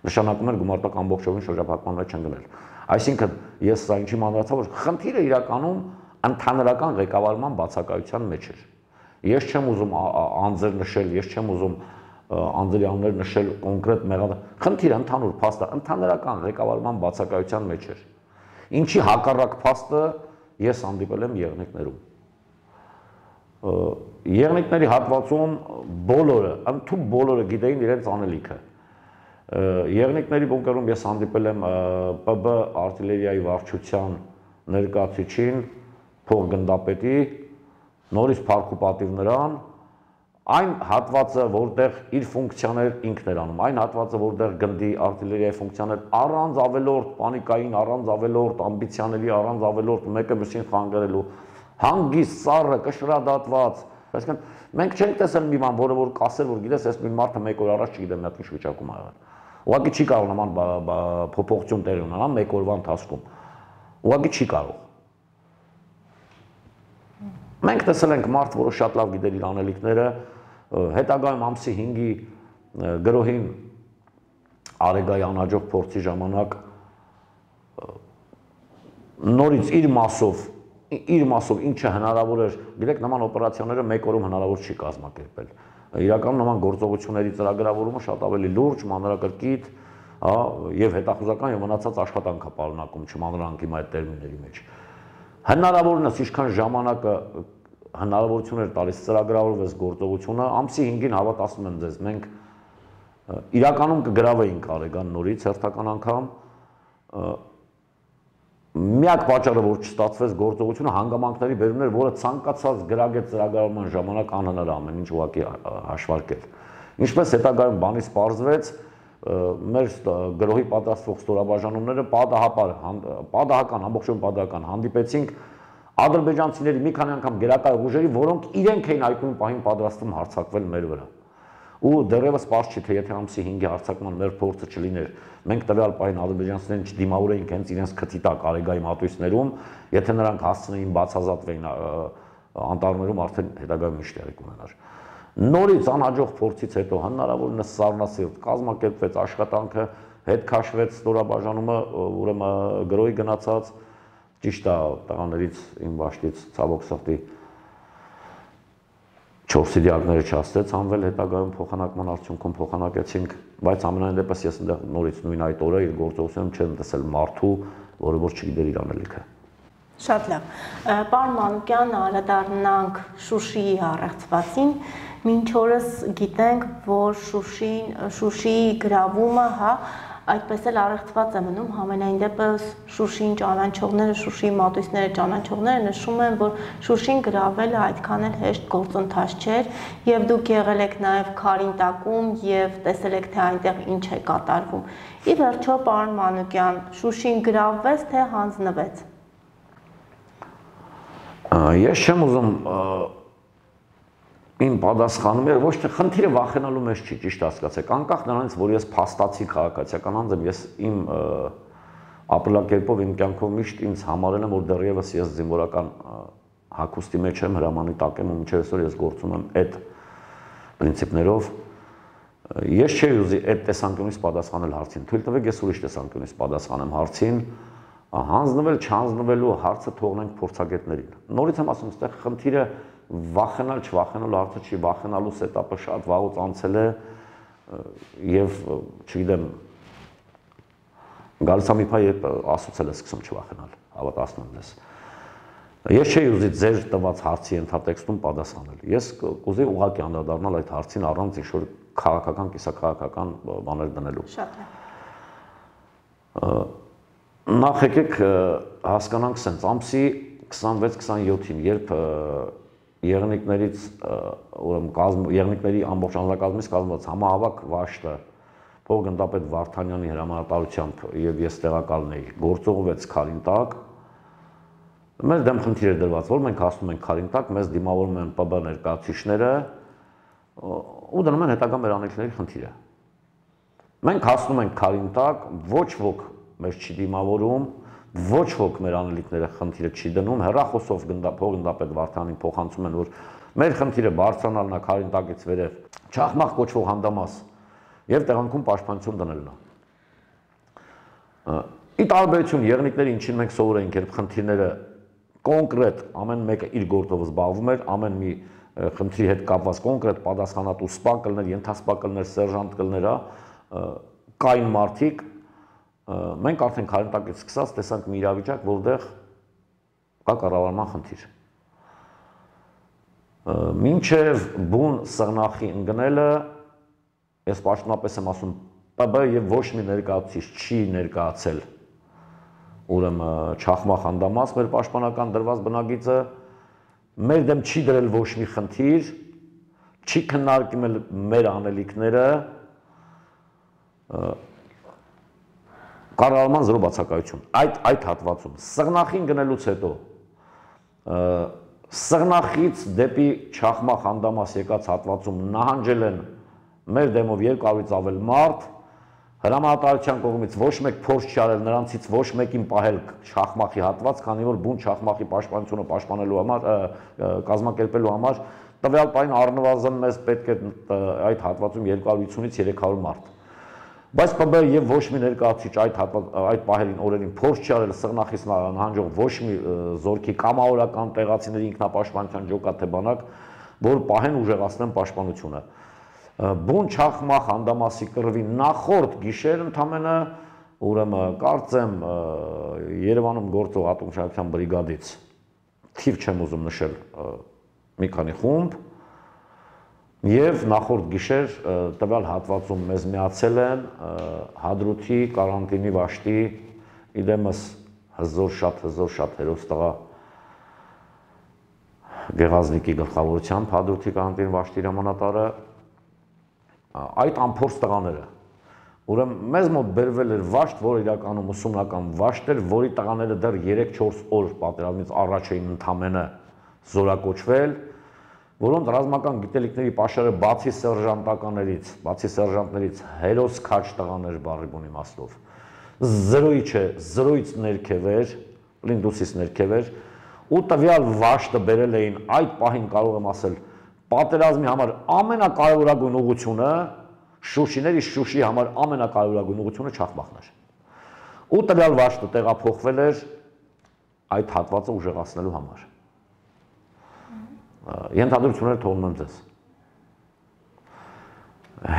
նշանակում էր գումարտակ ամբողջովին շրջափակման մեջ չընկնել։ Այսինքն, ես սա ինչի մանրացա, որ խնդիրը իրականում ընդհանրական ղեկավարման բացակայության մեջ էր։ Ես չեմ ուզում անձեր նշել, ես չեմ ուզում անձերի անուններ նշել կոնկրետ խնդիրը ընդհանուր փաստը ընդհանրական ղեկավարման բացակայության մեջ էր։ Ինչի հակառակ փաստը ես հանդիպել եմ եղնիկներում։ եղնիկների հատվածում բոլորը, ընդհանուր բոլորը գիտեին իրենց անելիքը։ Եղնիկների բունկերում ես հանդիպել եմ ՊԲ արտիլերիայի վարչության ներկայացուցիչին, փոխգնդապետի, նորից փառք ու պատիվ նրան, այն հատվածը, որտեղ իր ֆունկցիաներ ինքն էր անում, այն հատվածը, որտեղ գնդի արտիլերիայի ֆունկցիաներ առանց ավելորդ պանիկային, առանց ավելորդ ամբիցիաների, առանց ավելորդ մեկը մյուսին խանգարելու, հանգիստ, սառը, կշռադատված, այսինքն մենք չենք տեսել մի բան, որը որ կասել, որ գիտես, այս մի մարդը մեկ օր առաջ չգիտեմ, մի հատ ինչ վիճակում ա եղել։ Ուղղակի չի կարող նման փոփոխություն տեղի ունենալ մեկ օրվա ընթացքում։ Ուղղակի չի կարող։ Մենք տեսել ենք մարդ, որը շատ լավ գիտեր իր անելիքները, հետագայում ամսի 5-ի գրոհին Արեգայի անհաջող փորձի ժամանակ նորից իր մասով ինչը հնարավոր էր, գիտեք, նման օպերացիաները մեկ օրում հնարավոր չի կազմակերպել։ Իրականում նման գործողությունների ծրագրավորումը շատ ավելի լուրջ, մանրակրկիտ, եւ հետախուզական եւ մնացած աշխատանք է պարունակում, չմանրանք իմ այդ տերմինների մեջ։ Հնարավորինս ինչքան ժամանակը հնարավորություն էր տալիս ծրագրավորվեց գործողությունը, ամսի 5-ին հավատացնում եմ ձեզ, մենք իրականում կգրավեինք Արեգան նորից հերթական անգամ, միակ պատճառը, որ չստացվեց գործողությունը հանգամանքների բերումն էր, որը ցանկացած գրագետ ծրագրավորման ժամանակ անհնար է ամեն ինչ ուղղակի հաշվարկել։ Ինչպես հետագայում բանից պարզվեց, մեր գրոհի պատրաստվող ստորաբաժանումները պատահական, ամբողջովին պատահական հանդիպեցինք ադրբեջանցիների մի քանի անգամ գերակա ուժերի, որոնք իրենք էին այդ պահին պատրաստվում հարձակվել մեր վրա։ Ու դեռևս պարզ չի, թե եթե ամսի 5-ի հարձակման մեր փորձը չլիներ, մենք տվյալ պահին ադրբեջանցիներին չդիմավորեինք հենց իրենց քթի տակ Արեգայի մատույցներում, եթե նրանք հասցնեին բացազատվեին անտառներում, արդեն հետագայում ինչ տեղի կունենար։ Նորից անհաջող փորձից հետո հնարավորինս սառնասիրտ կազմակերպվեց աշխատանքը, հետ քաշվեց ստորաբաժանումը, ուրեմն գրոհի գնացած, ճիշտ է, տղաներից իմ վաշտից ցավոք սրտի 4 դիակները չհասցրեց հանվել, հետագայում փոխանակման արդյունքում փոխանակեցինք, բայց ամենայն դեպս ես այնտեղ նորից նույն այդ օրը իր գործողությունում չեմ տեսել մարդու, որը որ չգիտեր իր անելիքը։ Շատ լավ։ Պարոն Մանուկյան, անդրադառնանք Շուշիի առեղծվածին։ Մինչ օրս գիտենք, որ Շուշիի գրավումը, այդպես էլ առեղծված է մնում, համենայն դեպս Շուշիին ճանաչողները, Շուշիի մատույցները ճանաչողները նշում են, որ Շուշին գրավելը այդքան էլ հեշտ գործընթաց չէր, եւ դուք եղել եք նաեւ Քարինտակում եւ տեսել եք, թե այնտեղ ինչ է կատարվում։ Ի վերջո, պարոն Մանուկյան, Շուշին գրավվեց, թե հանձնվեց։ Ես չեմ ուզում իմ պատասխանում էր, ոչ թե խնդիրը վախենալու մեջ չի, ճիշտ հասկացեք, անկախ նրանից, որ ես փաստացի քաղաքացիական անձ եմ, ես իմ ապրելակերպով, իմ կյանքով միշտ ինձ համարել եմ, որ դեռևս ես զինվորական հագուստի մեջ եմ, հրամանի տակ եմ, ու մինչև այսօր ես գործում եմ այդ պրինցիպներով։ Ես չէի ուզի այդ տեսանկյունից պատասխանել հարցին, թույլ տվեք ես ուրիշ տեսանկյունից պատասխանեմ հարցին, հանձնվել, չհանձնվելու հարցը թողնենք փորձագետներին։ Նորից եմ ասում, այստեղ խնդիրը վախենալ, չվախենալու հարցը չի, վախենալու սետապը շատ վաղուց անցել է եւ չգիտեմ գալիս է մի փա երբ ասոցել է սկսում չվախենալ, հավատացնում եմ ես։ Ես չէի ուզի ձեր տված հարցի ենթատեքստում պատասխանել։ Ես կուզեի ուղղակի անդրադառնալ այդ հարցին առանց ինչ-որ քաղաքական, կիսաքաղաքական բաներ դնելու։ Շատ է։ Նախ եկեք հասկանանք սենց, ամսի 26-27-ին, երբ եղնիկներից, եղնիկների ամբողջ անձնակազմից կազմված համահավաք վաշտը փոխգնդապետ Վարդանյանի հրամանատարությամբ եւ ես տեղակալն էի, գործողվեց Քարինտակ, մեր դեմ խնդիր էր դրված, որ մենք հասնում ենք Քարինտակ, մեզ դիմավորում են ՊԲ ներկայացուցիչները ու դնում են հետագա մեր անելիքների խնդիրը։ Մենք հասնում ենք Քարինտակ, ոչ ոք մեզ չի դիմավորում, ոչ ոք մեր անելիքները խնդիրը չի դնում, հեռախոսով փոխգնդապետ Վարդանին փոխանցում են, որ մեր խնդիրը բարձրանալն է Քարինտակից վերև, Չախմախ կոչվող հանդամաս եւ տեղանքում պաշտպանություն դնելն է։ Ի տարբերություն եղնիկների, ինչին մենք սովոր ենք, երբ խնդիրները կոնկրետ ամեն մեկը իր գործով զբաղվում էր, ամեն մի խնդրի հետ կապված կոնկրետ պատասխանատու սպա կլներ, ենթասպա կլներ, սերժանտ կլներ, կային մարդիկ, մենք արդեն Քարինտակից սկսած տեսանք մի իրավիճակ, որտեղ կա կառավարման խնդիր։ Մինչև բուն սղնախի ընկնելը, ես պաշտոնապես եմ ասում, ՊԲ եւ ոչ մի ներկայացուցիչ չի ներկայացել ուրեմն Չախմա խանդամաս մեր պաշտպանական դրված բնագիծը, մեր դեմ չի դրել ոչ մի խնդիր, չի քննարկել մեր անելիքները, կառավարման զրո բացակայություն այդ հատվածում սղնախին գնելուց հետո սղնախից դեպի Չախմա խանդամաս եկած հատվածում նահանջել են մեր դեմով 200-ից ավել մարդ, հրամանատարության կողմից ոչ մեկ փորձ չի արել նրանցից ոչ մեկին պահել Չախմախի հատված, քանի որ բուն Չախմախի պաշտպանությունը պաշտպանելու համար, կազմակերպելու համար տվյալ պահին առնվազն մեզ պետք է այդ հատվածում 250-ից 300 մարդ։ Բայց ՊԲ եւ ոչ մի ներկայացուցիչ այդ պահերին օրերին փորձ չի արել սղնախից նահանջող ոչ մի զորքի կամավորական տեղացիների ինքնապաշտպանության ջոկատ թե բանակ, որ պահեն ուժեղացնեն պաշտպանությունը։ Բուն Չախմա խանդամասի կռվի նախորդ գիշեր ընդամենը ուրեմն կարծեմ Երևանում գործող ատոմշահության բրիգադից թիվ չեմ ուզում նշել մի քանի խումբ եւ նախորդ գիշեր տվյալ հատվածում մեզ միացել են Հադրութի կարանտինի վաշտի իդեմս հզոր շատ հերոստղա Գեղազնիկի գլխավորությամբ Հադրութի կարանտինի վաշտի հրամանատարը այդ անփորձ տղաները, ուրեմն մեզ մոտ բերվել էր վաշտ, որ իրականում ուսումնական վաշտ էր, որի տղաները դեռ 3-4 օր պատերազմից առաջ էին ընդամենը զորակոչվել, որոնց ռազմական գիտելիքների պաշարը բացի սերժանտներից հերոս քաչ տղաներ բառի բուն իմաստով, զրոյի չէ, զրոյից ներքև էր, Լինդուսից ներքև էր, ու տվյալ վաշտը բերել էին այդ պահին կարող եմ ասել պատերազմի համար ամենակարևորագույն ուղղությունը, շուշիների Շուշի համար ամենակարևորագույն ուղղությունը Չախմախն էր։ Ու տվյալ վաշտը տեղափոխվել էր այդ հատվածը ուժեղացնելու համար։ Ենթադրությունները թողնում եմ ձեզ։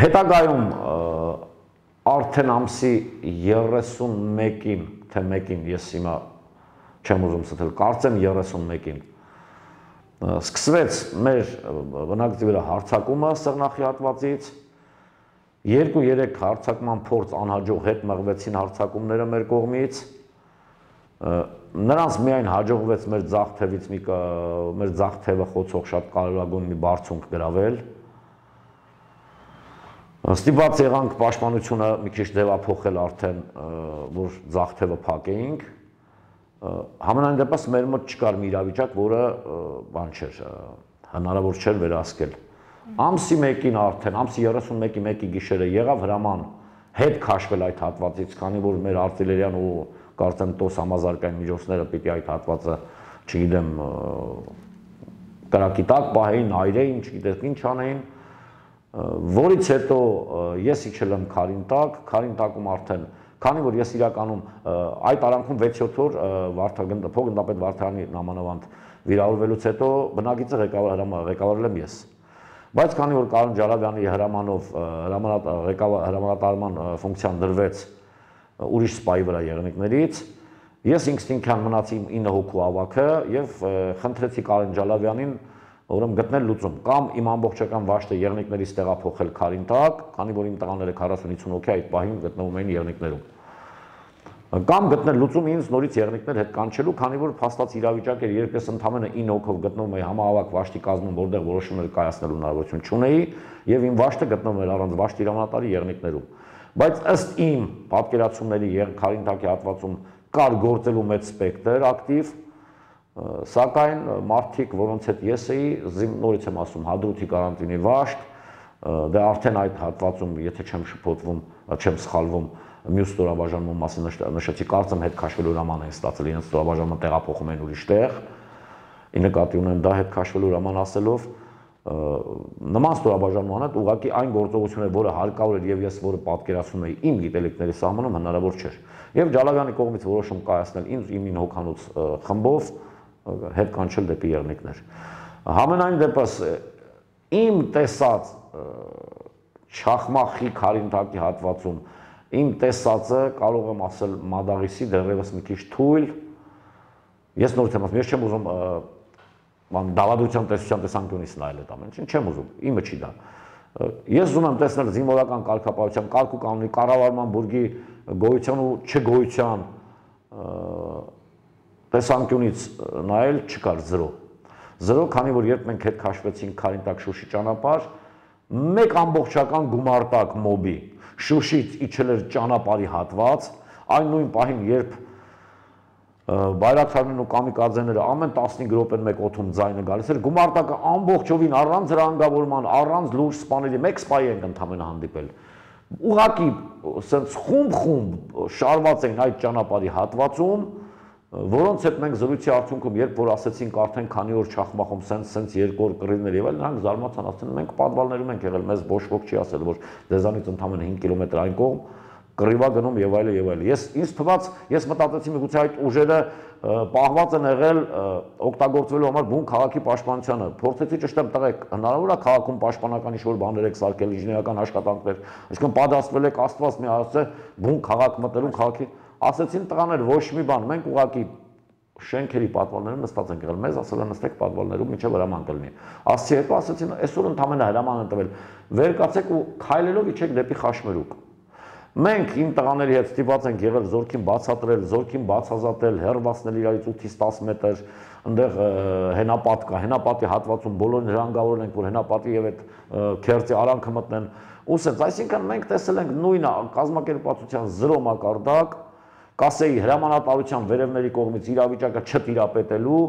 Հետագայում արդեն ամսի 31-ին, թե 1-ին, ես հիմա չեմ ուզում ստել, կարծեմ 31-ին սկսվեց մեր բնակիչի վրա հարձակումը սղնախի հատվածից, 2-3 հարձակման փորձ անհաջող հետ մղվեցին հարձակումները մեր կողմից, նրանց միայն հաջողվեց մեր ձախ թևը խոցող շատ կարևորագույն մի բարձունք գրավել, ստիպված եղանք պաշտպանությունը մի քիչ ձևափոխել արդեն, որ ձախ թևը փակեինք, Համենայն դեպս մեր մոտ չկար մի իրավիճակ, որը բան չէր, հնարավոր չէր վերահսկել։ Ամսի 1-ին արդեն, ամսի 31-ի 1-ի գիշերը եղավ հրաման հետ քաշվել այդ հատվածից, քանի որ մեր արտիլերիան ու կարծեմ տոս համազարգային միջոցները պիտի այդ հատվածը, չգիտեմ, կրակի տակ պահեին, այրեին, չգիտես ինչ անեին, որից հետո ես իջել եմ Քարին տակում արդեն Քանի որ ես իրականում այդ արանքում 6-7 օր փոխգնդապետ Վարդանի նամանավանդ վիրավորվելուց հետո բնագիծը ղեկավարել եմ ես։ Բայց քանի որ Կարեն Ջալավյանի հրամանով հրամանատարման ֆունկցիան դրվեց ուրիշ սպայի վրա եղնիկներից, ես ինքնին մնացի 9 հոգու ավագը եւ խնդրեցի Կարեն Ջալավյանին ուրեմն գտնել լուծում կամ իմ ամբողջական վաշտը եղնիկներից տեղափոխել Քարին տակ, քանի որ իմ տղաները 40-50 հոգի այդ պահին գտնվում էին եղնիկներում։ Կամ գտնել լուծում ինձ նորից եղնիկներ հետ կանչելու, քանի որ փաստած իրավիճակ էր, երբ ես ընդամենը 9 հոգով գտնվում էի համահավաք վաշտի կազմում, որտեղ որոշումներ կայացնելու հնարավորություն չունեի, եւ իմ վաշտը գտնվում էր առանց վաշտի հրամանատարի եղնիկներում։ Բայց ըստ իմ պատկերացումների Քարին տակի հատվածում կար գործելու մեծ սպեկտր ակտիվ, սակայն մարդիկ, որոնց հետ ես էի, նորից եմ ասում, Հադրութի կարանտինի վաշտ, դե արդեն այդ հատվածում, եթե չեմ շփոթվում, չեմ սխալվում, մյուս ստորաբաժանման մասին նշեցի, կարծեմ հետ քաշվելու հրաման են ստացել, իրենց ստորաբաժանումը տեղափոխում են ուրիշ տեղ, ի նկատի ունեմ դա հետ քաշվելու հրաման ասելով, նման ստորաբաժանման հետ ուղղակի այն գործողությունը, որը հարկավոր էր եւ ես որը պատկերացնում էի իմ գիտելիքների սահմանում հնարավոր չէր։ Եվ Ջալավյանի կողմից որոշում կայացնել ինձ իմ 9 հոգանոց խմբով հետ կանչել դեպի եղնիկներ։ Համենայն դեպս իմ տեսած Չախմախի Քարին տակի հատվածում իմ տեսածը կարող եմ ասել մադաղիսի դեռևս մի քիչ թույլ, ես նորից եմ ասում, ես չեմ ուզում դավադրության տեսության տեսանկյունից նայել այդ ամեն ինչը, չեմ ուզում, իմը չի դա։ Ես ուզում եմ տեսնել զինվորական կարգապահության, կարգ ու կանոնի, կառավարման բուրգի գոյության ու չգոյության տեսանկյունից նայել չկար 0, քանի որ երբ մենք հետ քաշվեցինք Քարինտակ Շուշի ճանապարհ, մեկ ամբողջական գումարտակ մոբի Շուշից իջել էր ճանապարհի հատված, այն նույն պահին, երբ Բայրակթարներն ու կամիկաձեները ամեն 15 րոպեն մեկ օդում ձայնը գալիս էր, գումարտակը ամբողջովին առանց հրանգավորման, առանց լուրջ սպաների, մեկ սպայի ենք ընդամենը հանդիպել։ Ուղղակի սենց խումբ շարված էին այդ ճանապարհի հատվածում, որոնց հետ մենք զրույցի արդյունքում, երբ որ ասեցինք արդեն քանի օր չախմախում սենց երկու օր կռիվներ եւ այլն, նրանք զարմացան, ասեն մենք պատվալներում ենք եղել, մեզ ոչ ոք չի ասել, որ դեզանից ընդամենը 5 կիլոմետր այն կողմ կռիվա գնում եւ այլն եւ այլն։ Ինձ թվաց, ես մտածեցի միգուցե այդ ուժերը պահված են եղել օգտագործվելու համար բուն քաղաքի պաշտպանությանը։ Փորձեցի ճշտեմ տղեկ, հնարավոր է քաղաքում պաշտպանական ինչ-որ բաներ եք սարքել, ինժեներական աշխատանքներ, այսինքն պատասխանել եք Աստված մի ասե բուն քաղաք մտերում քաղաքի, ասեցին տղաներ ոչ մի բան, մենք ուղղակի շենքերի պատվալներում նստած ենք եղել, մեզ ասել են նստեք պատվալներում մինչև հրաման կլինի։ Ասացի հետո ասեցին այսօր ընդամենը հրաման են տվել, վեր կացեք ու քայլելով իջեք դեպի Խաշմերուկ։ Մենք իմ տղաների հետ ստիպված ենք եղել զորքին բացատրել, զորքին բացազատել, հեռացնել իրարից 8-ից 10 մետր, այնտեղ հենապատ կա, հենապատի հատվածում բոլորին հրանգավորել ենք, որ հենապատի եւ այդ քերծի արանքը մտնեն։ Ու ասենց, այսինքն մենք տեսել ենք նույն կազմակերպվածության 0 մակարդակ, կասեի հրամանատարության վերևների կողմից իրավիճակը չտիրապետելու։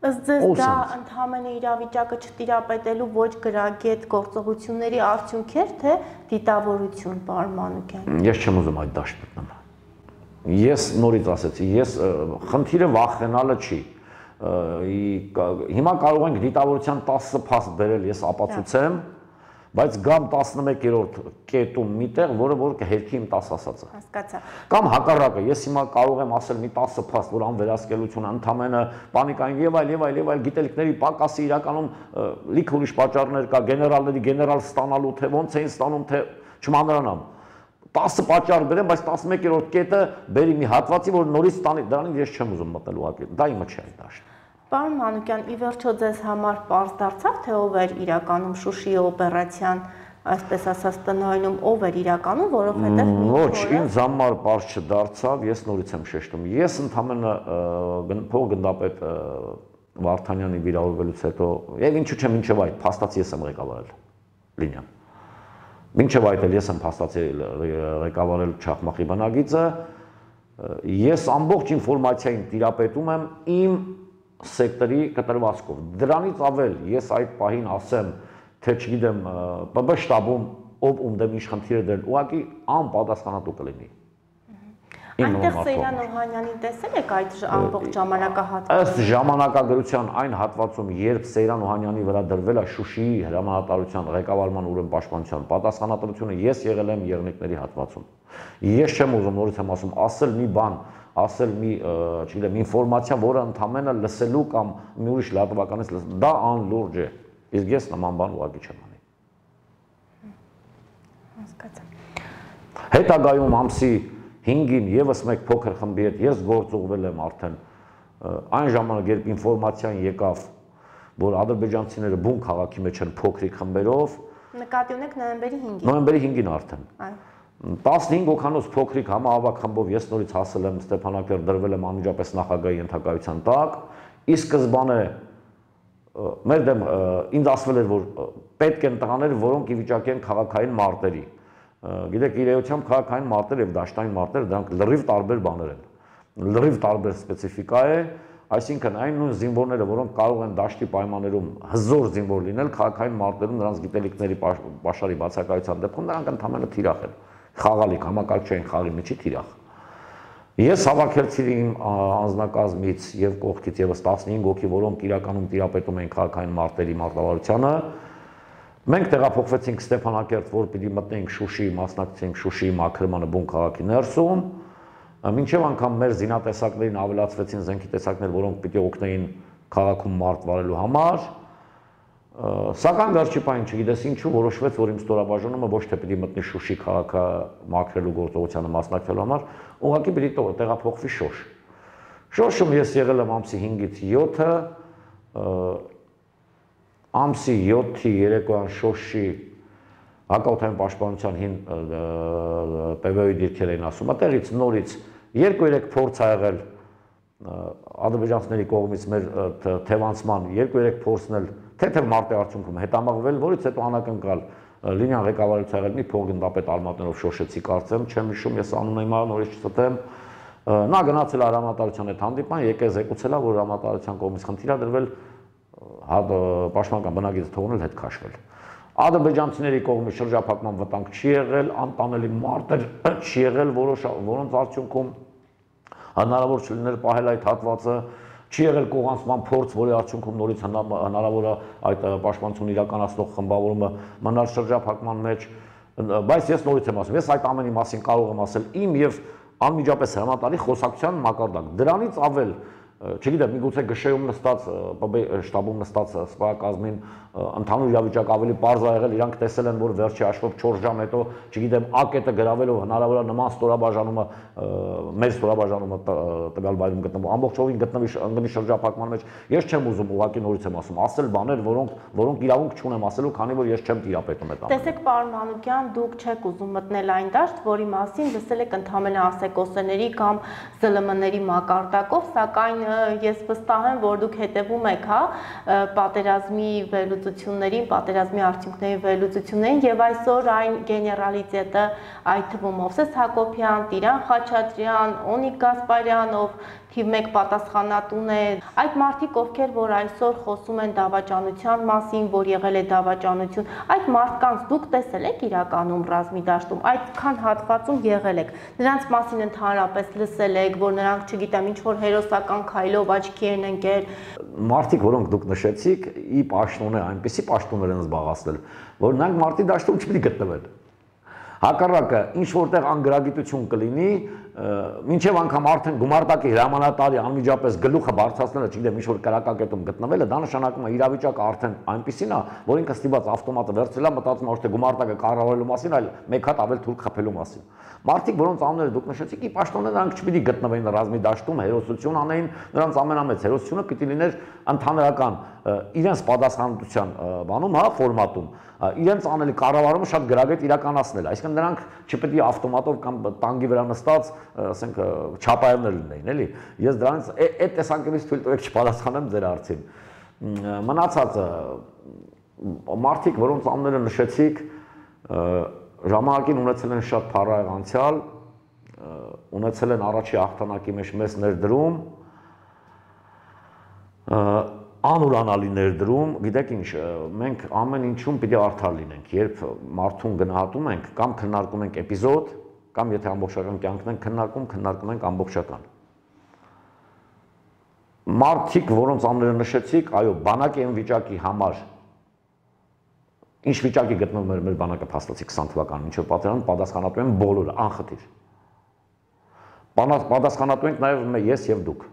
Ըստ ձեզ դա ընդհանրապես իրավիճակը չտիրապետելու ոչ գրագետ գործողությունների արդյունք էր, թե դիտավորություն, պարոն Մանուկյան։ Ես չեմ ուզում այդ դաշտ մտնել։ Ես նորից ասեցի, ես խնդիրը վախենալը չի։ Հիմա կարող ենք դիտավորության 10 փաստ բերել, ես ապացուցեմ, բայց գամ 11-րդ կետում միտեղ, որ կհերքի իմ 10 ասածը։ Հասկացա։ Կամ հակառակը, ես հիմա կարող եմ ասել մի 10 փաստ, որ անվերահսկելությունը ընդամենը պանիկային եւ այլ գիտելիքների պակասի իրականում լիք ուրիշ պատճառներ կա, գեներալների գեներալ ստանալու, թե ոնց էին ստանում, թե չմանրանամ։ 10 պատճառ բերեմ, բայց 11-րդ կետը բերի մի հատվածի, որ նորից ստանի, դրանին ես չեմ ուզում մտնել ուղղակի։ Դա իմը չէ այդ դաշտը։ Պարոն Մանուկյան, ի վերջո ձեզ համար պարզ դարձավ, թե ով էր իրականում Շուշիի օպերացիան, այսպես ասած, տնօրինում, ով էր իրականում, որովհետև ոչ, ինձ համար պարզ չդարձավ, ես նորից եմ շեշտում։ Ես ընդամենը փոխգնդապետ Վարդանյանի վիրավորվելուց հետո, եւ ինչու՞ չէ, մինչեւ այդ փաստացի ես եմ ղեկավարել լինիան։ Մինչև այդ էլ ես եմ փաստացի ղեկավարել Չախմախի բնագիծը, ես ամբողջ ինֆորմացիային տիրապետում եմ իմ սեկտորի կտրվածքով։ Դրանից ավել ես այդ պահին ասեմ, թե չգիտեմ, ՊԲ շտաբում ով ում ինչ խնդիր է դրել, ուղղակի անպատասխանատու կլինի։ Այնտեղ Սեյրան Օհանյանին տեսել եք այդ ամբողջ ժամանակահատվածում։ Ըստ ժամանակագրության այն հատվածում, երբ Սեյրան Օհանյանի վրա դրվել է Շուշիի հրամանատարության ղեկավարման ուրեմն պաշտպանության պատասխանատվությունը, ես եղել եմ եղնիկների հատվածում։ Ես չեմ ուզում նորից եմ ասում, ասել մի բան, ասել մի, չգիտեմ, ինֆորմացիա, որը ընդամենը լսելու կամ մի ուրիշ լրատվականից դա անլուրջ է։ Իսկ ես նման բան ուղղակի չեմ անի։ Հասկացա։ Հետագայում ամսի 5-ին եւս մեկ փոքր խմբի հետ ես գործուղվել եմ արդեն այն ժամանակ, երբ ինֆորմացիան եկավ, որ ադրբեջանցիները բուն քաղաքի մեջ են փոքրիկ խմբերով։ Նկատի ունեք նոյեմբերի 5-ին։ Նոյեմբերի 5-ին արդեն։ 15 հոգանոց փոքրիկ համահավաք խմբով ես նորից հասել եմ Ստեփանակերտ, դրվել եմ անմիջապես նախագահի ենթակայության տակ։ Ի սկզբանե մեր դեմ ինձ ասվել էր, որ պետք են տղաներ, որոնք ի վիճակի են քաղաքային մարտերի։ Գիտեք, իրեությամբ քաղաքային մարտեր եւ դաշտային մարտեր դրանք լրիվ տարբեր բաներ են։ Լրիվ տարբեր սպეციფիկա է, այսինքն այն նույն զինվորները, որոնք կարող են դաշտի պայմաններում հզոր զինվոր լինել, քաղաքային մարտերում նրանց գիտելիքների պաշարի բացակայության դեպքում նրանք ընդհանրապես թիրախ են։ Խաղալիք, համակարգչային խաղի միջի թիրախ։ Ես հավաքեցի իմ անձնակազմից եւ կողքից եւս 15 հոգի, որոնք իրականում տիրապետում էին քաղաքային մարտերի մարտավարությանը։ Մենք տեղափոխվեցինք Ստեփանակերտ, որ պիտի մտնենք Շուշիի, մասնակցենք Շուշիի մաքրմանը բուն քաղաքի ներսում։ Մինչև անգամ մեր զինատեսակներին ավելացվեցին զենքի տեսակներ, որոնք պիտի օգնեին քաղաքում մարտ վարելու համար։ Սակայն վերջիպային չգիտես ինչու որոշվեց, որ իմ ստորաբաժանումը ոչ թե պիտի մտնի Շուշի քաղաքը մաքրելու գործողությանը մասնակցելու համար, ուղղակի պիտի տեղափոխվի Շոշ։ Շոշում ես եղել եմ ամսի 5-ից 7-ը, ամսի 7-ի երեկոյան Շոշի հակաօդային պաշտպանության հին ՊՎՕ-ի դիրքեր էին ասում, այդտեղից նորից 2-3 փորձ ա եղել ադրբեջանցիների կողմից մեր թևանցման 2-3 փորձն էլ թեթև մարտի արդյունքում հետամաղվել, որից հետո անակնկալ Լինյան ղեկավարից եղել մի փոխգնդապետ արմատներով շոշեցի կարծեմ, չեմ հիշում, ես անունը հիմա նորից չտեմ, նա գնացել հրամանատարության հետ հանդիպման, եկել զեկուցել, որ հրամանատարության կողմից խնդիր ա դրվել պաշտպանական բնակիչը թողնել հետ քաշվել։ Ադրբեջանցիների կողմից շրջափակման վտանգ չի եղել, անտանելի մարտեր չի եղել, որոնց արդյունքում հնարավոր չլիներ պահել այդ հատվածը, չի եղել կողանցման փորձ, որի արդյունքում նորից հնարավոր է այդ պաշտպանություն իրականացնող խմբավորումը մնալ շրջափակման մեջ, բայց ես նորից եմ ասում, ես այդ ամենի մասին կարող եմ ասել իմ եւ անմիջապես հրամանատարի խոսակցության մակարդակ։ Դրանից ավել, չգիտեմ, միգուցե գշեում նստած, շտաբում նստած սպայակազմին ընդհանուր իրավիճակ ավելի պարզ ա եղել, իրանք տեսել են, որ վերջի հաշվով 4 ժամ հետո, չգիտեմ, ակետը գրավելով հնարավոր է նման ստորաբաժանումը, մեր ստորաբաժանումը տվյալ վայրում գտնվում, ամբողջովին ընկնի շրջափակման մեջ։ Ես չեմ ուզում, ուղղակի նորից եմ ասում, ասել բաներ, որոնք իրավունք չունեմ ասելու, քանի որ ես չեմ տիրապետում այդ ամենը։ Տեսեք, պարոն Մանուկյան, դուք չեք ուզում մտնել այն դաշտ, որի մասին լսել եք ընդհանրապես ասեկոսների կամ ԶԼՄ-ների մակարդակով, սակայն ես վստահ եմ, որ դուք հետևում եք, պատերազմի վերլուծություններին, պատերազմի արդյունքների վերլուծություններին եւ այսօր այն գեներալիտետը, այդ թվում Մովսես Հակոբյան, Տիրան Խաչատրյան, Օնիկ Գասպարյան, ով թիվ 1 պատասխանատուն է, այդ մարդիկ, ովքեր որ այսօր խոսում են դավաճանության մասին, որ եղել է դավաճանություն, այդ մարդկանց դուք տեսել եք իրականում ռազմի դաշտում, այդքան հատվածում եղել եք, նրանց մասին ընդհանրապես լսել եք, որ նրանք, չգիտեմ, ինչ որ հերոսական քայլով աչքի են ընկել։ Մարդիկ, որոնք դուք նշեցիք, ի պաշտոն է այնպեսի պաշտոններ են զբաղացնել, որ նրանք մարտի դաշտում չպետք է գտնվեն։ Հակառակը, ինչ որտեղ անգրագիտություն կլինի, մինչև անգամ արդեն գումարտակի հրամանատարի անմիջապես գլուխը բարձրացնելը, չգիտեմ, ինչ որ կրակակետում գտնվելը, դա նշանակում է իրավիճակը արդեն այնպեսին է, որ ինքը ստիպված ավտոմատը վերցրել է, մտածում է, թե գումարտակը կառավարելու մասին, այլ մեկ հատ ավել թուրք խփելու մասին։ Մարդիկ, որոնց անունները դուք նշեցիք, ի պաշտոններ նրանք չպիտի գտնվեին ռազմի դաշտում, հերոսություն անեին, նրանց ամենամեծ հերոսությունը պիտի լիներ ընդհանրական իրենց պատասխանատվության բանում, ֆորմատում, իրենց անելի կառավարումը շատ գրագետ իրականացնել, այսինքն նրանք չպետք է ավտոմատով կամ տանկի վրա նստած, ասենք, չապայերներ լինեին, էլի։ Ես դրանից այդ տեսանկյունից թույլ տվեք չպատասխանեմ ձեր հարցին։ Մնացածը մարդիկ, որոնց անունները նշեցիք, ժամանակին ունեցել են շատ փառահեղ անցյալ, ունեցել են առաջի հաղթանակի մեջ մեծ ներդրում, անուրանալի ներդրում, գիտեք ինչ, մենք ամեն ինչում պիտի արդար լինենք, երբ մարդուն գնահատում ենք, կամ քննարկում ենք էպիզոդ, կամ եթե ամբողջական կյանքն ենք քննարկում ենք ամբողջական։ Մարդիկ, որոնց անունները նշեցիք, այո, բանակի այն վիճակի համար, ինչ վիճակի գտնվում էր մեր բանակը փաստացի 20 թվականին, ինչով պատերազմ պատասխանատու են բոլորը, անխտիր։ Պատասխանատու ենք նաև ես եւ դուք։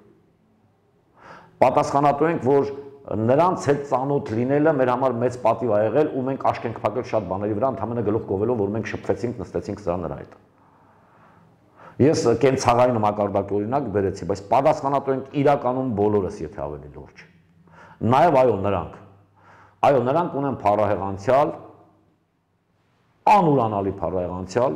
Պատասխանատու ենք, որ նրանց հետ ծանոթ լինելը մեր համար մեծ պատիվ ա եղել ու մենք աշկ ենք փակել շատ բաների վրա, ընդհանրապես գլուխ գովելով, որ մենք շփվեցինք, նստեցինք սրա նրա հետ։ Ես կենցաղային մակարդակի օրինակ բերեցի, բայց պատասխանատու ենք իրականում բոլորս, եթե ավելի լուրջ։ Նաև այո, նրանք ունեն փառահեղ անցյալ, անուրանալի փառահեղ անցյալ,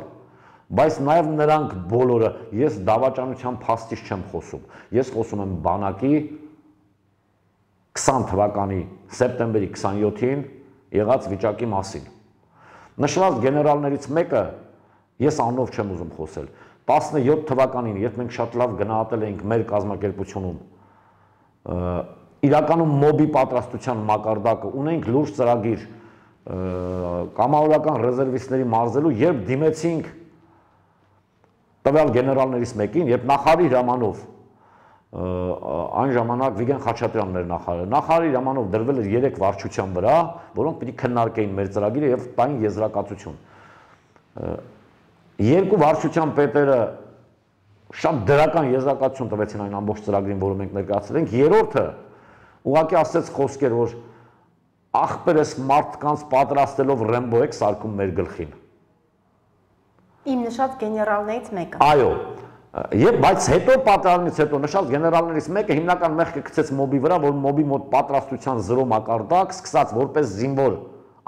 բայց նաև նրանք բոլորը, ես դավաճանության փաստից չեմ խոսում, ես խոսում եմ բանակի 20 թվականի սեպտեմբերի 27-ին եղած վիճակի մասին։ Նշված գեներալներից մեկը, ես անունով չեմ ուզում խոսել, 17 թվականին, երբ մենք շատ լավ գնահատել էինք մեր կազմակերպությունում, իրականում մոբի պատրաստության մակարդակը, ունենք լուրջ ծրագիր կամավորական ռեզերվիստների մարզելու, երբ դիմեցինք տվյալ գեներալներից մեկին, երբ նախարարի հրամանով, այն ժամանակ Վիգեն Խաչատրյանն էր նախարարը, նախարարի հրամանով դրվել էր 3 վարչության վրա, որոնք պիտի քննարկեին մեր ծրագիրը եւ տային եզրակացություն։ 2 վարչության պետերը շատ դրական եզրակացություն տվեցին այն ամբողջ ծրագրին, որը մենք ներկայացրել ենք, երրորդը ուղղակի ասեց խոսքեր, որ ախպերս մարդկանց պատրաստելով Ռեմբո եք սարքում մեր գլխին։ Իմ նշած գեներալներից մեկը։ Այո, Եվ բայց հետո պատերազմից հետո նշած գեներալներից մեկը հիմնական մեղքը գցեց մոբի վրա, որ մոբի մոտ պատրաստության 0 մակարդակ, սկսած որպես զինվոր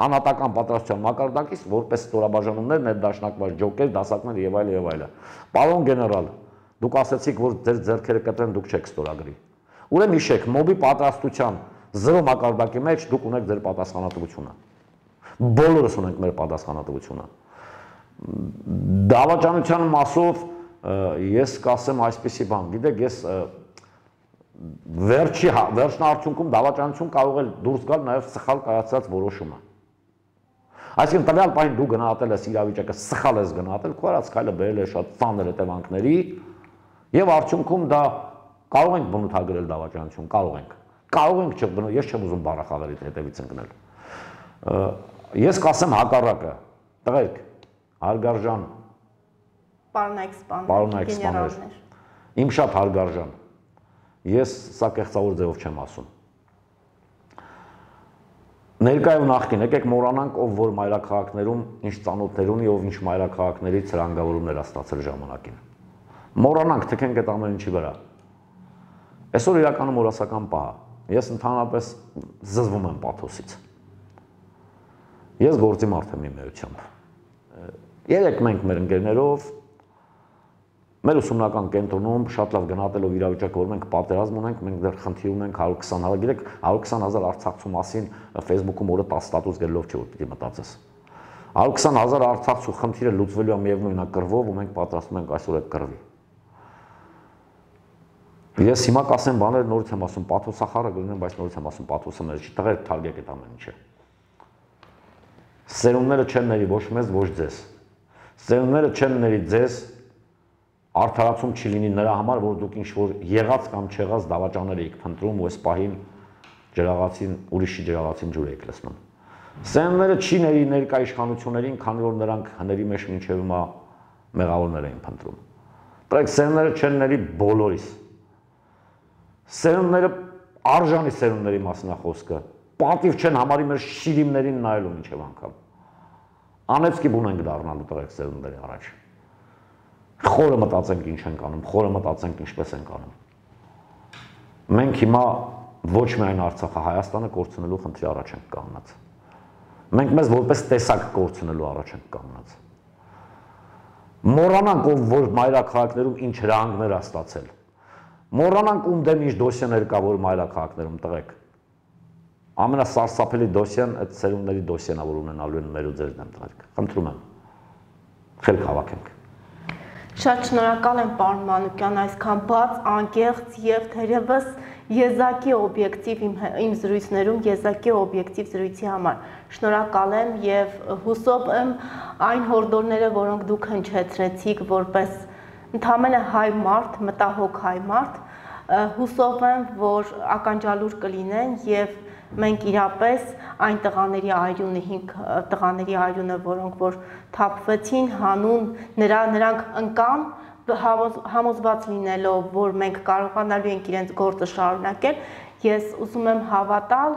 անհատական պատրաստության մակարդակից, որպես ստորաբաժանումներ, ներդաշնակված ջոկեր, դասակներ եւ այլ եւ այլը։ Պարոն գեներալ, դուք ասացիք, որ ձեր ձեռքերը կտրեն, դուք չեք ստորագրի։ Ուրեմն հիշեք, մոբի պատրաստության 0 մակարդակի մեջ դուք ունեք ձեր պատասխանատվությունը։ Բոլորս ունենք մեր պատասխանատվությունը։ Դավաճանության մասով ես կասեմ այսպիսի բան, գիտեք, ես վերջնարդյունքում դավաճանություն կարող է դուրս գալ նաև սխալ կայացած որոշումը։ Այսինքն տվյալ պահին դու գնահատել ես իրավիճակը, սխալ ես գնահատել, քո արած քայլը բերել է շատ ծանր հետևանքների եւ արդյունքում դա կարող ենք բնութագրել դավաճանություն, կարող ենք չբնորոշ, ես չեմ ուզում բառախաղերի հետևից ընկնել։ Ես կասեմ հակառակը, տղերք, հարգարժան պարոնայք սպաներ, իմ շատ հարգարժան, ես սա կեղծավոր ձևով չեմ ասում։ Ներկայ ու նախկին, եկեք մոռանանք, ով որ մայրաքաղաքներում ինչ ծանոթներ ունի, ով ինչ մայրաքաղաքներից հրանգավորումներ ա ստացել ժամանակին։ Մոռանանք, թքենք այդ ամեն ինչի վրա։ Այսօր իրականում օրասական պահ է։ Ես ընդհանրապես զզվում եմ պաթոսից։ Ես գործի մարդ եմ իմ էությամբ։ Երեք մենք մեր ընկերներով մեր ուսումնական կենտրոնում շատ լավ գնահատելով իրավիճակը, որ մենք պատերազմ ունենք, մենք դեռ խնդիր ունենք 120,000, գիտեք, 120,000 արցախցու մասին Facebook-ում օրը 10 ստատուս գելով չէ որ պիտի մտածես։ 120,000 արցախցու խնդիրը լուծվելու է միևնույն կռվով ու մենք պատրաստվում ենք այսօր այդ կռվի։ Ես հիմա կասեմ բաներ նորից եմ ասում, պաթոսախառը գտնեմ, բայց նորից եմ ասում, պաթոսը մեր չի, տղեր թարգեք այդ ամեն ինչը։ Սերունդները չեն ների ոչ մեզ, ոչ ձեզ։ Սերունդները չեն ների ձեզ, արդարացում չի լինի նրա համար, որ դուք ինչ-որ եղած կամ չեղած դավաճաններ եք փնտրում ու այս պահին ջրաղացին, ուրիշի ջրաղացին ջուր եք լցնում։ Սերունդները չի ների ներկա իշխանություններին, քանի որ նրանք հների մեջ մինչև հիմա մեղավորներ էին փնտրում։ Բայց սերունդները չեն ների բոլորիս։ Սերունդները արժանի սերունդների մասին է խոսքը։ Պատիվ չեն համարի մեր շիրիմներին նայելու մինչև անգամ։ Անեծքի բուն ենք դառնալու տղեկ սերունդների առաջ։ Խորը մտածենք ինչ ենք անում, խորը մտածենք ինչպես ենք անում։ Մենք հիմա ոչ միայն Արցախը, Հայաստանը կորցնելու խնդրի առաջ ենք կանգնած։ Մենք մեզ որպես տեսակ կորցնելու առաջ ենք կանգնած։ Մոռանանք ով որ մայրաքաղաքներում ինչ հրահանգներ ա ստացել։ Մոռանանք ում դեմ ինչ դոսիաներ կա որ մայրաքաղաքներում տղեկ։ Ամենասարսափելի դոսիան այդ սերունդների դոսիան ա որ ունենալու են մեր ու ձեր դեմ տղերք։ Խնդրում եմ։ Խելք հավաքենք։ Շատ շնորհակալ եմ պարոն Մանուկյան այսքան բաց, անկեղծ եւ թերևս եզակի օբյեկտիվ իմ զրույցներում եզակի օբյեկտիվ զրույցի համար։ Շնորհակալ եմ եւ հուսով եմ այն հորդորները, որոնք դուք հնչեցրեցիք որպես ընդհանրապես հայ մարդ, մտահոգ հայ մարդ, հուսով եմ, որ ականջալուր կլինեն եւ մենք իրապես այն տղաների այրունը, 5 տղաների այրունը, որոնք որ թափվեցին հանուն նրանք ընկան համոզված լինելով, որ մենք կարողանալու ենք իրենց գործը շարունակել, ես ուզում եմ հավատալ,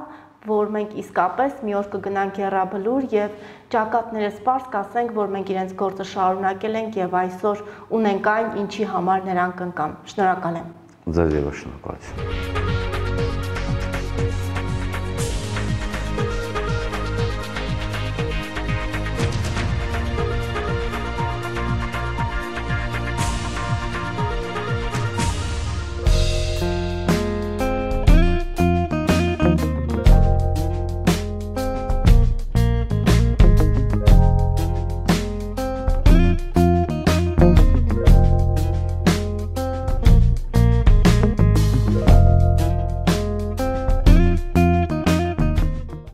որ մենք իսկապես մի օր կգնանք եռաբլուր եւ ճակատները սպարս կասենք, որ մենք իրենց գործը շարունակել ենք եւ այսօր ունենք այն, ինչի համար նրանք ընկան։ Շնորհակալ եմ։ Ձեզ եւս շնորհակալություն։